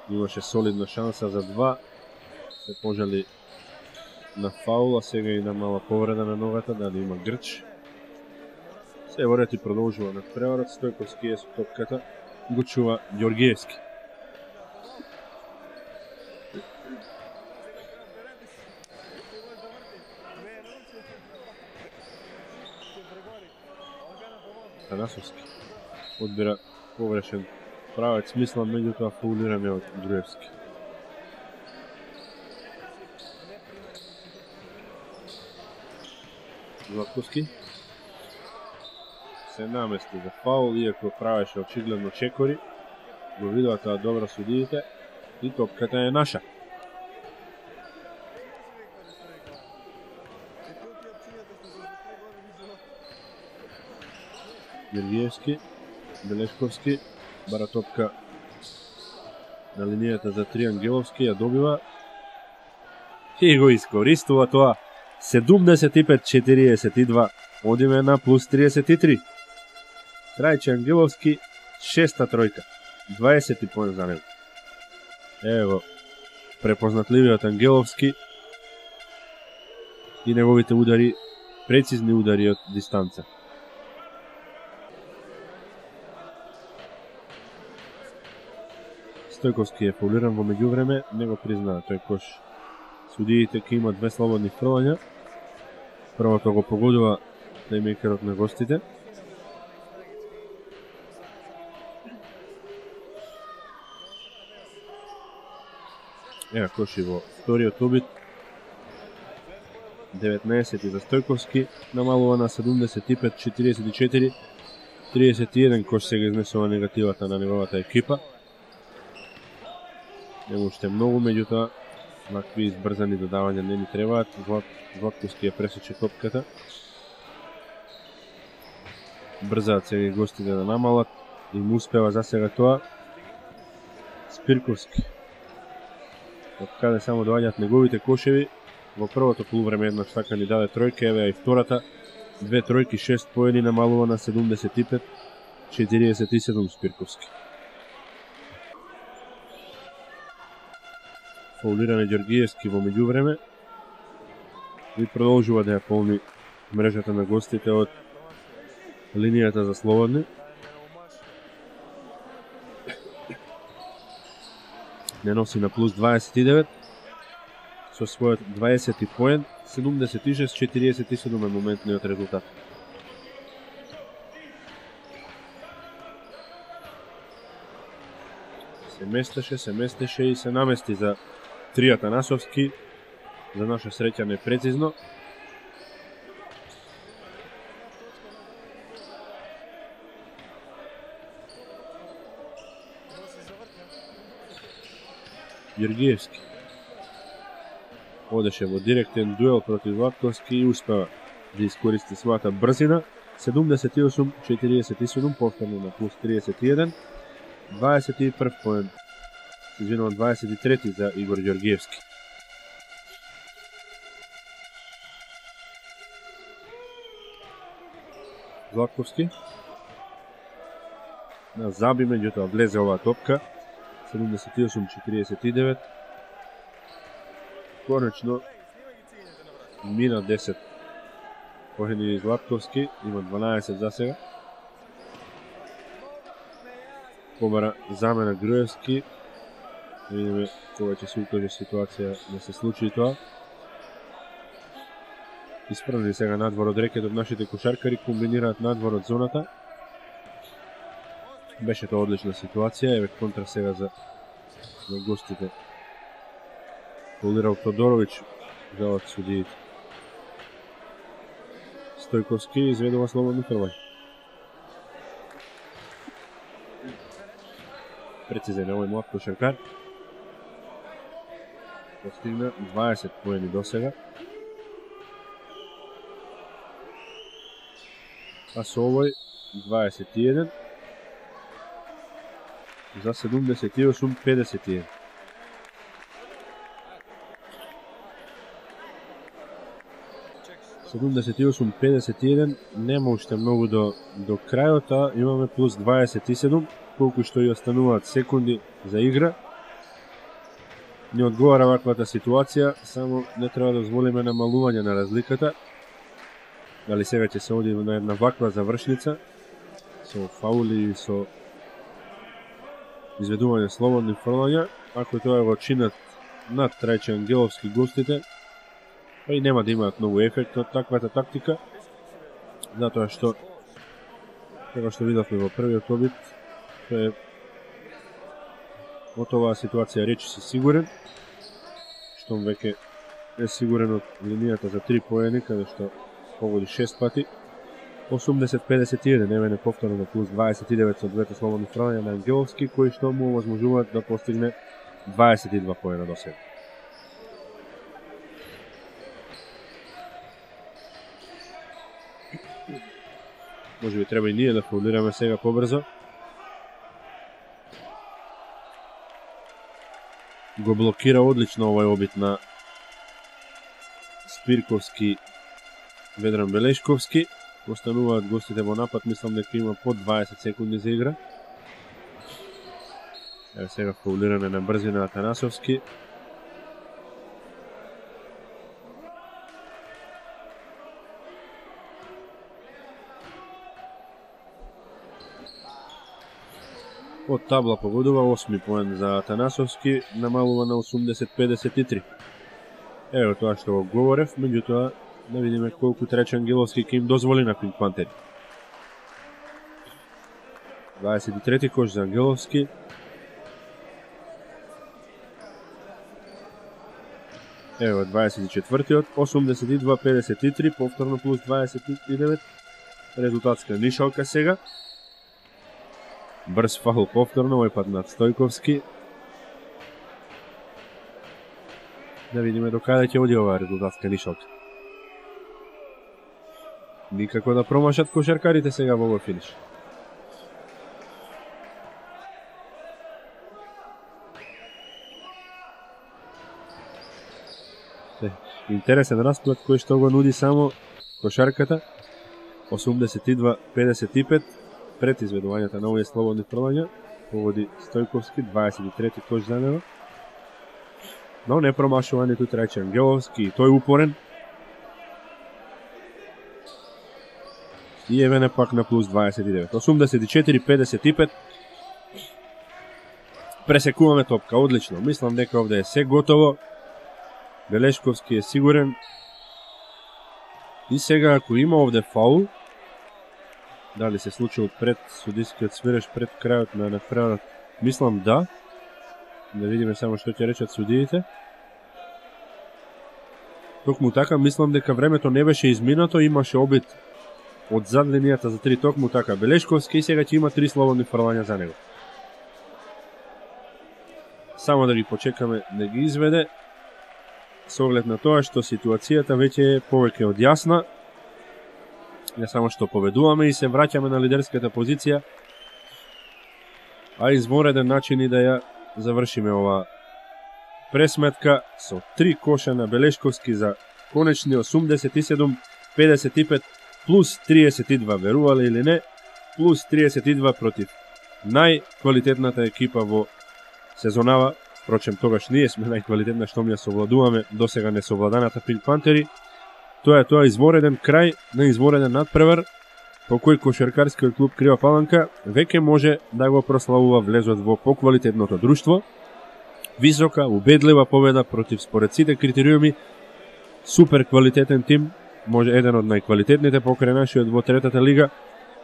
имаше солидна шанса за два. Се пожали на фаул, а сега и на мала повреда на ногата, дали има грч. Се во ред и продолжува на преварот, Стојковски е со топката, го чува Ѓоргиевски. Танасовски одбира погрешен правец, мислам, меѓутоа фаулиране од Груевски. Златковски се намести за фаул, иако правеше очигледно чекори. Го видува тоа добро судиите и топката е наша. Ѓоргиевски, Белешковски, бара топка на линијата за три, Ангеловски ја добива и го искористува тоа. седумдесет и пет четириесет и два, одиме на плюс триесет и три. Трајче Ангеловски, шеста тројка, дваесет поен за него. Ево, препознатливиот Ангеловски и неговите удари, прецизни удари од дистанца. Стојковски е фаулиран во меѓувреме, не го признаа тој кош. Судиите ке има две слободни фрлања. Првото го погодува плеймејкерот на гостите. Ева коши во вториот обид. деветнаесет за Стојковски, намалува на седумдесет и пет четириесет и четири. триесет и еден кош сега изнесува негативата на неговата екипа. Нема уште многу, меѓутоа вакви избрзани додавања не ни требаат. Златковски ја пресече топката. Брзаат сега и гостите да намалат и му успева за сега тоа. Спирковски. Од каде само доаѓаат неговите кошеви. Во првото полувреме еднаш така ни даде тројка, еве и втората. Две тројки, шест поени, намалува на седумдесет и пет четириесет и седум Спирковски. Фаулиране Ѓоргиевски во меѓувреме и продолжува да ја полни мрежата на гостите од линијата за слободни. Не носи на плюс дваесет и девет со својот дваесети поен, седумдесет и шест четириесет и седум е моментниот резултат. Се местеше, се местеше и се намести за три Атанасовски. За наша среќа непрецизно. Ѓоргиевски одеше во директен дуел против Златковски и успева да искористи својата брзина. седумдесет и осум четириесет и седум, повторно на плюс триесет и еден. дваесет и прв поен извинувам, дваесет и трети за Игор Ѓоргиевски. Златковски. На Заби, меѓутоа влезе оваа топка. седумдесет и осум четиридесет и девет. Конечно, мина десет. Поени Златковски, има дванаесет за сега. Побара замена Груевски. Да видиме кога ќе се укаже ситуација да се случи тоа. Исправни сега надвор од рекетот, нашите кошаркари комбинираат надвор од зоната. Беше тоа одлична ситуација, еве контра сега за, за гостите. Фаулирал Тодоровиќ, жалат судиите. Стојковски изведува слободно фрлање. Прецизен овој млад кошаркар. Постигна дваесет поени до сега. А со овој дваесет и еден. За седумдесет и осум педесет и еден. седумдесет и осум педесет и еден, нема уште многу до, до крајот, а имаме плюс дваесет и седум, колку што и остануваат секунди за игра. Не одговара ваквата ситуација, само не треба да дозволиме намалување на разликата. Дали сега ќе се оди на една ваква завршница, со фаули и со изведување слободни фрлања, ако тоа го чинат над Трајче Ангеловски гостите, па и нема да имаат многу ефект од таквата тактика, затоа што како што видовме во првиот обид, е од оваа ситуација речи си сигурен, штом веќе е сигурен од линијата за три поени, каде што погоди шест пати. осумдесет педесет и еден, еве не повторно плюс дваесет и девет со двете слободни фрлања на Ангеловски, кои што му овозможуваат да постигне дваесет и два поена до сега. Може би треба и ние да фаулираме сега побрзо. Го блокира одлично овој обид на Спирковски, Ведран Белешковски. Остануваат гостите во напад, мислам дека има по дваесет секунди за игра. Еве сега фаулиране на брзина Атанасовски. Од табла погодува осми поен за Атанасовски, намалува на осумдесет педесет и три. Ево тоа што го говорев, меѓутоа да видиме колку Трајче Ангеловски ќе им дозволи на Пинк Пантери. дваесет и трети кош за Ангеловски. Ево дваесет и четвртиот, осумдесет и два педесет и три, повторно плюс дваесет и девет. Резултатска нишалка сега. Брз фаул повторно, овој пат над Стојковски. Да видиме до каде ќе оди оваа резултатска нишалка. Никако да промашат кошаркарите сега во овој финиш. Интересен расплат кој што го нуди само кошарката. осумдесет и два педесет и пет пред изведувањата на овие слободни фрлања. Погоди Стојковски, дваесет и трети кош за него. Но не промашува ниту Трајче Ангеловски, и тој упорен. И еве не пак на плюс дваесет и девет. осумдесет и четири педесет и пет. Пресекуваме топка, одлично. Мислам дека овде е се готово. Белешковски е сигурен. И сега ако има овде фаул, дали се случил пред судискиот свиреш пред крајот на надпреварот? Мислам да. Да видиме само што ќе речат судиите. Токму така, мислам дека времето не беше изминато, имаше обид од зад линијата за три, токму така. Белешковски и сега ќе има три слободни фрлања за него. Само да ги почекаме да ги изведе, со оглед на тоа што ситуацијата веќе е повеќе од јасна. Не само што победуваме и се враќаме на лидерската позиција, а извонреден начин и да ја завршиме ова пресметка со три коша на Белешковски за конечни осумдесет и седум педесет и пет плюс триесет и два, верувале или не, плюс триесет и два против најквалитетната екипа во сезонава. Впрочем, тогаш ние сме најквалитетна што ми ја совладуваме досега несовладаната Пинк Пантери. Тоа е тоа извореден крај на извореден надпревар, по кој кошаркарскиот клуб Крива Паланка веќе може да го прославува влезот во поквалитетното друштво. Висока, убедлива победа против според сите критериуми супер квалитетен тим, може еден од најквалитетните покрај нашиот во третата лига,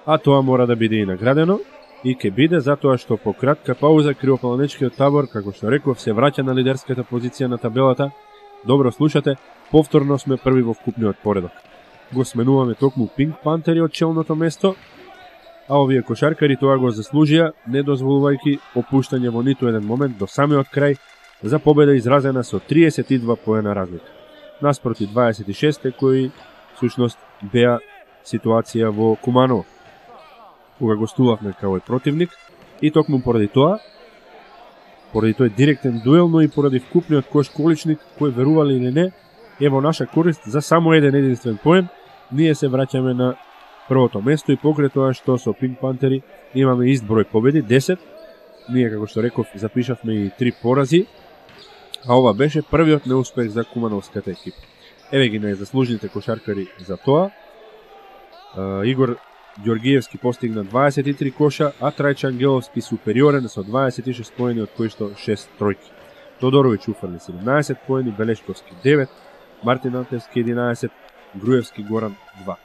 а тоа мора да биде и наградено. И ќе биде затоа што по кратка пауза Кривопаланечкиот табор, како што реков, се враќа на лидерската позиција на табелата. Добро слушате, повторно сме први во вкупниот поредок. Го сменуваме токму Пинк Пантери од челното место, а овие кошаркари тоа го заслужија, не дозволувајќи опуштање во ниту еден момент до самиот крај за победа изразена со триесет и два поена разлика. Наспроти дваесет и шест кои всушност беа ситуација во Куманово, кога гостувавме кај овој противник, и токму поради тоа, поради тој директен дуел, но и поради вкупниот кош количник, кој верували или не, е во наша корист за само еден единствен поен, ние се враќаме на првото место и покрај тоа што со Пинк Пантери имаме ист број победи, десет, ние, како што реков, запишавме и три порази, а ова беше првиот неуспех за кумановската екипа. Еве ги најзаслужните кошаркари за тоа. Игор Ѓоргиевски постигна дваесет и три коша, а Трајче Ангеловски супериорен со дваесет и шест поени, од кои што шест тројки. Тодоровиќ уфрли седумнаесет поени, Белешковски девет, Мартин Антевски единаесет, Груевски Горан два.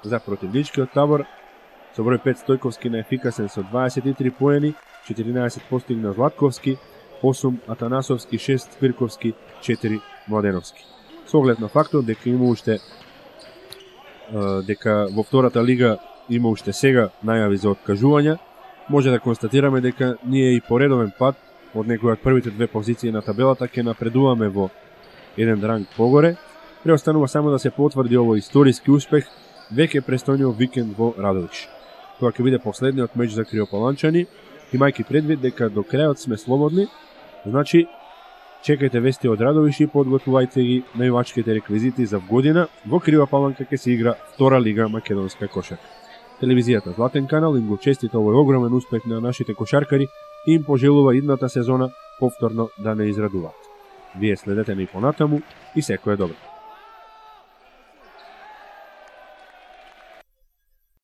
За противничкиот табор, со број пет Стојковски наефикасен со дваесет и три поени, четиринаесет постигна Златковски, осум Атанасовски, шест Спирковски, четири Младеновски. Со оглед на фактот дека има уште дека во втората лига има уште сега најави за откажувања, може да констатираме дека ние и по редовен пат од некои од првите две позиции на табелата ќе напредуваме во еден ранг погоре. Преостанува само да се потврди овој историски успех веќе престојниот викенд во Радовиш. Тоа ќе биде последниот меч за криопаланчани, имајќи предвид дека до крајот сме слободни, значи чекајте вести од Радовиш и подготвувајте ги највачките реквизити за година. Во Крива Паланка ќе се игра втора лига македонска кошарка. Телевизијата Златен канал им го честита овој огромен успех на нашите кошаркари и им пожелува идната сезона повторно да не израдуваат. Вие следете ни понатаму и секое добро.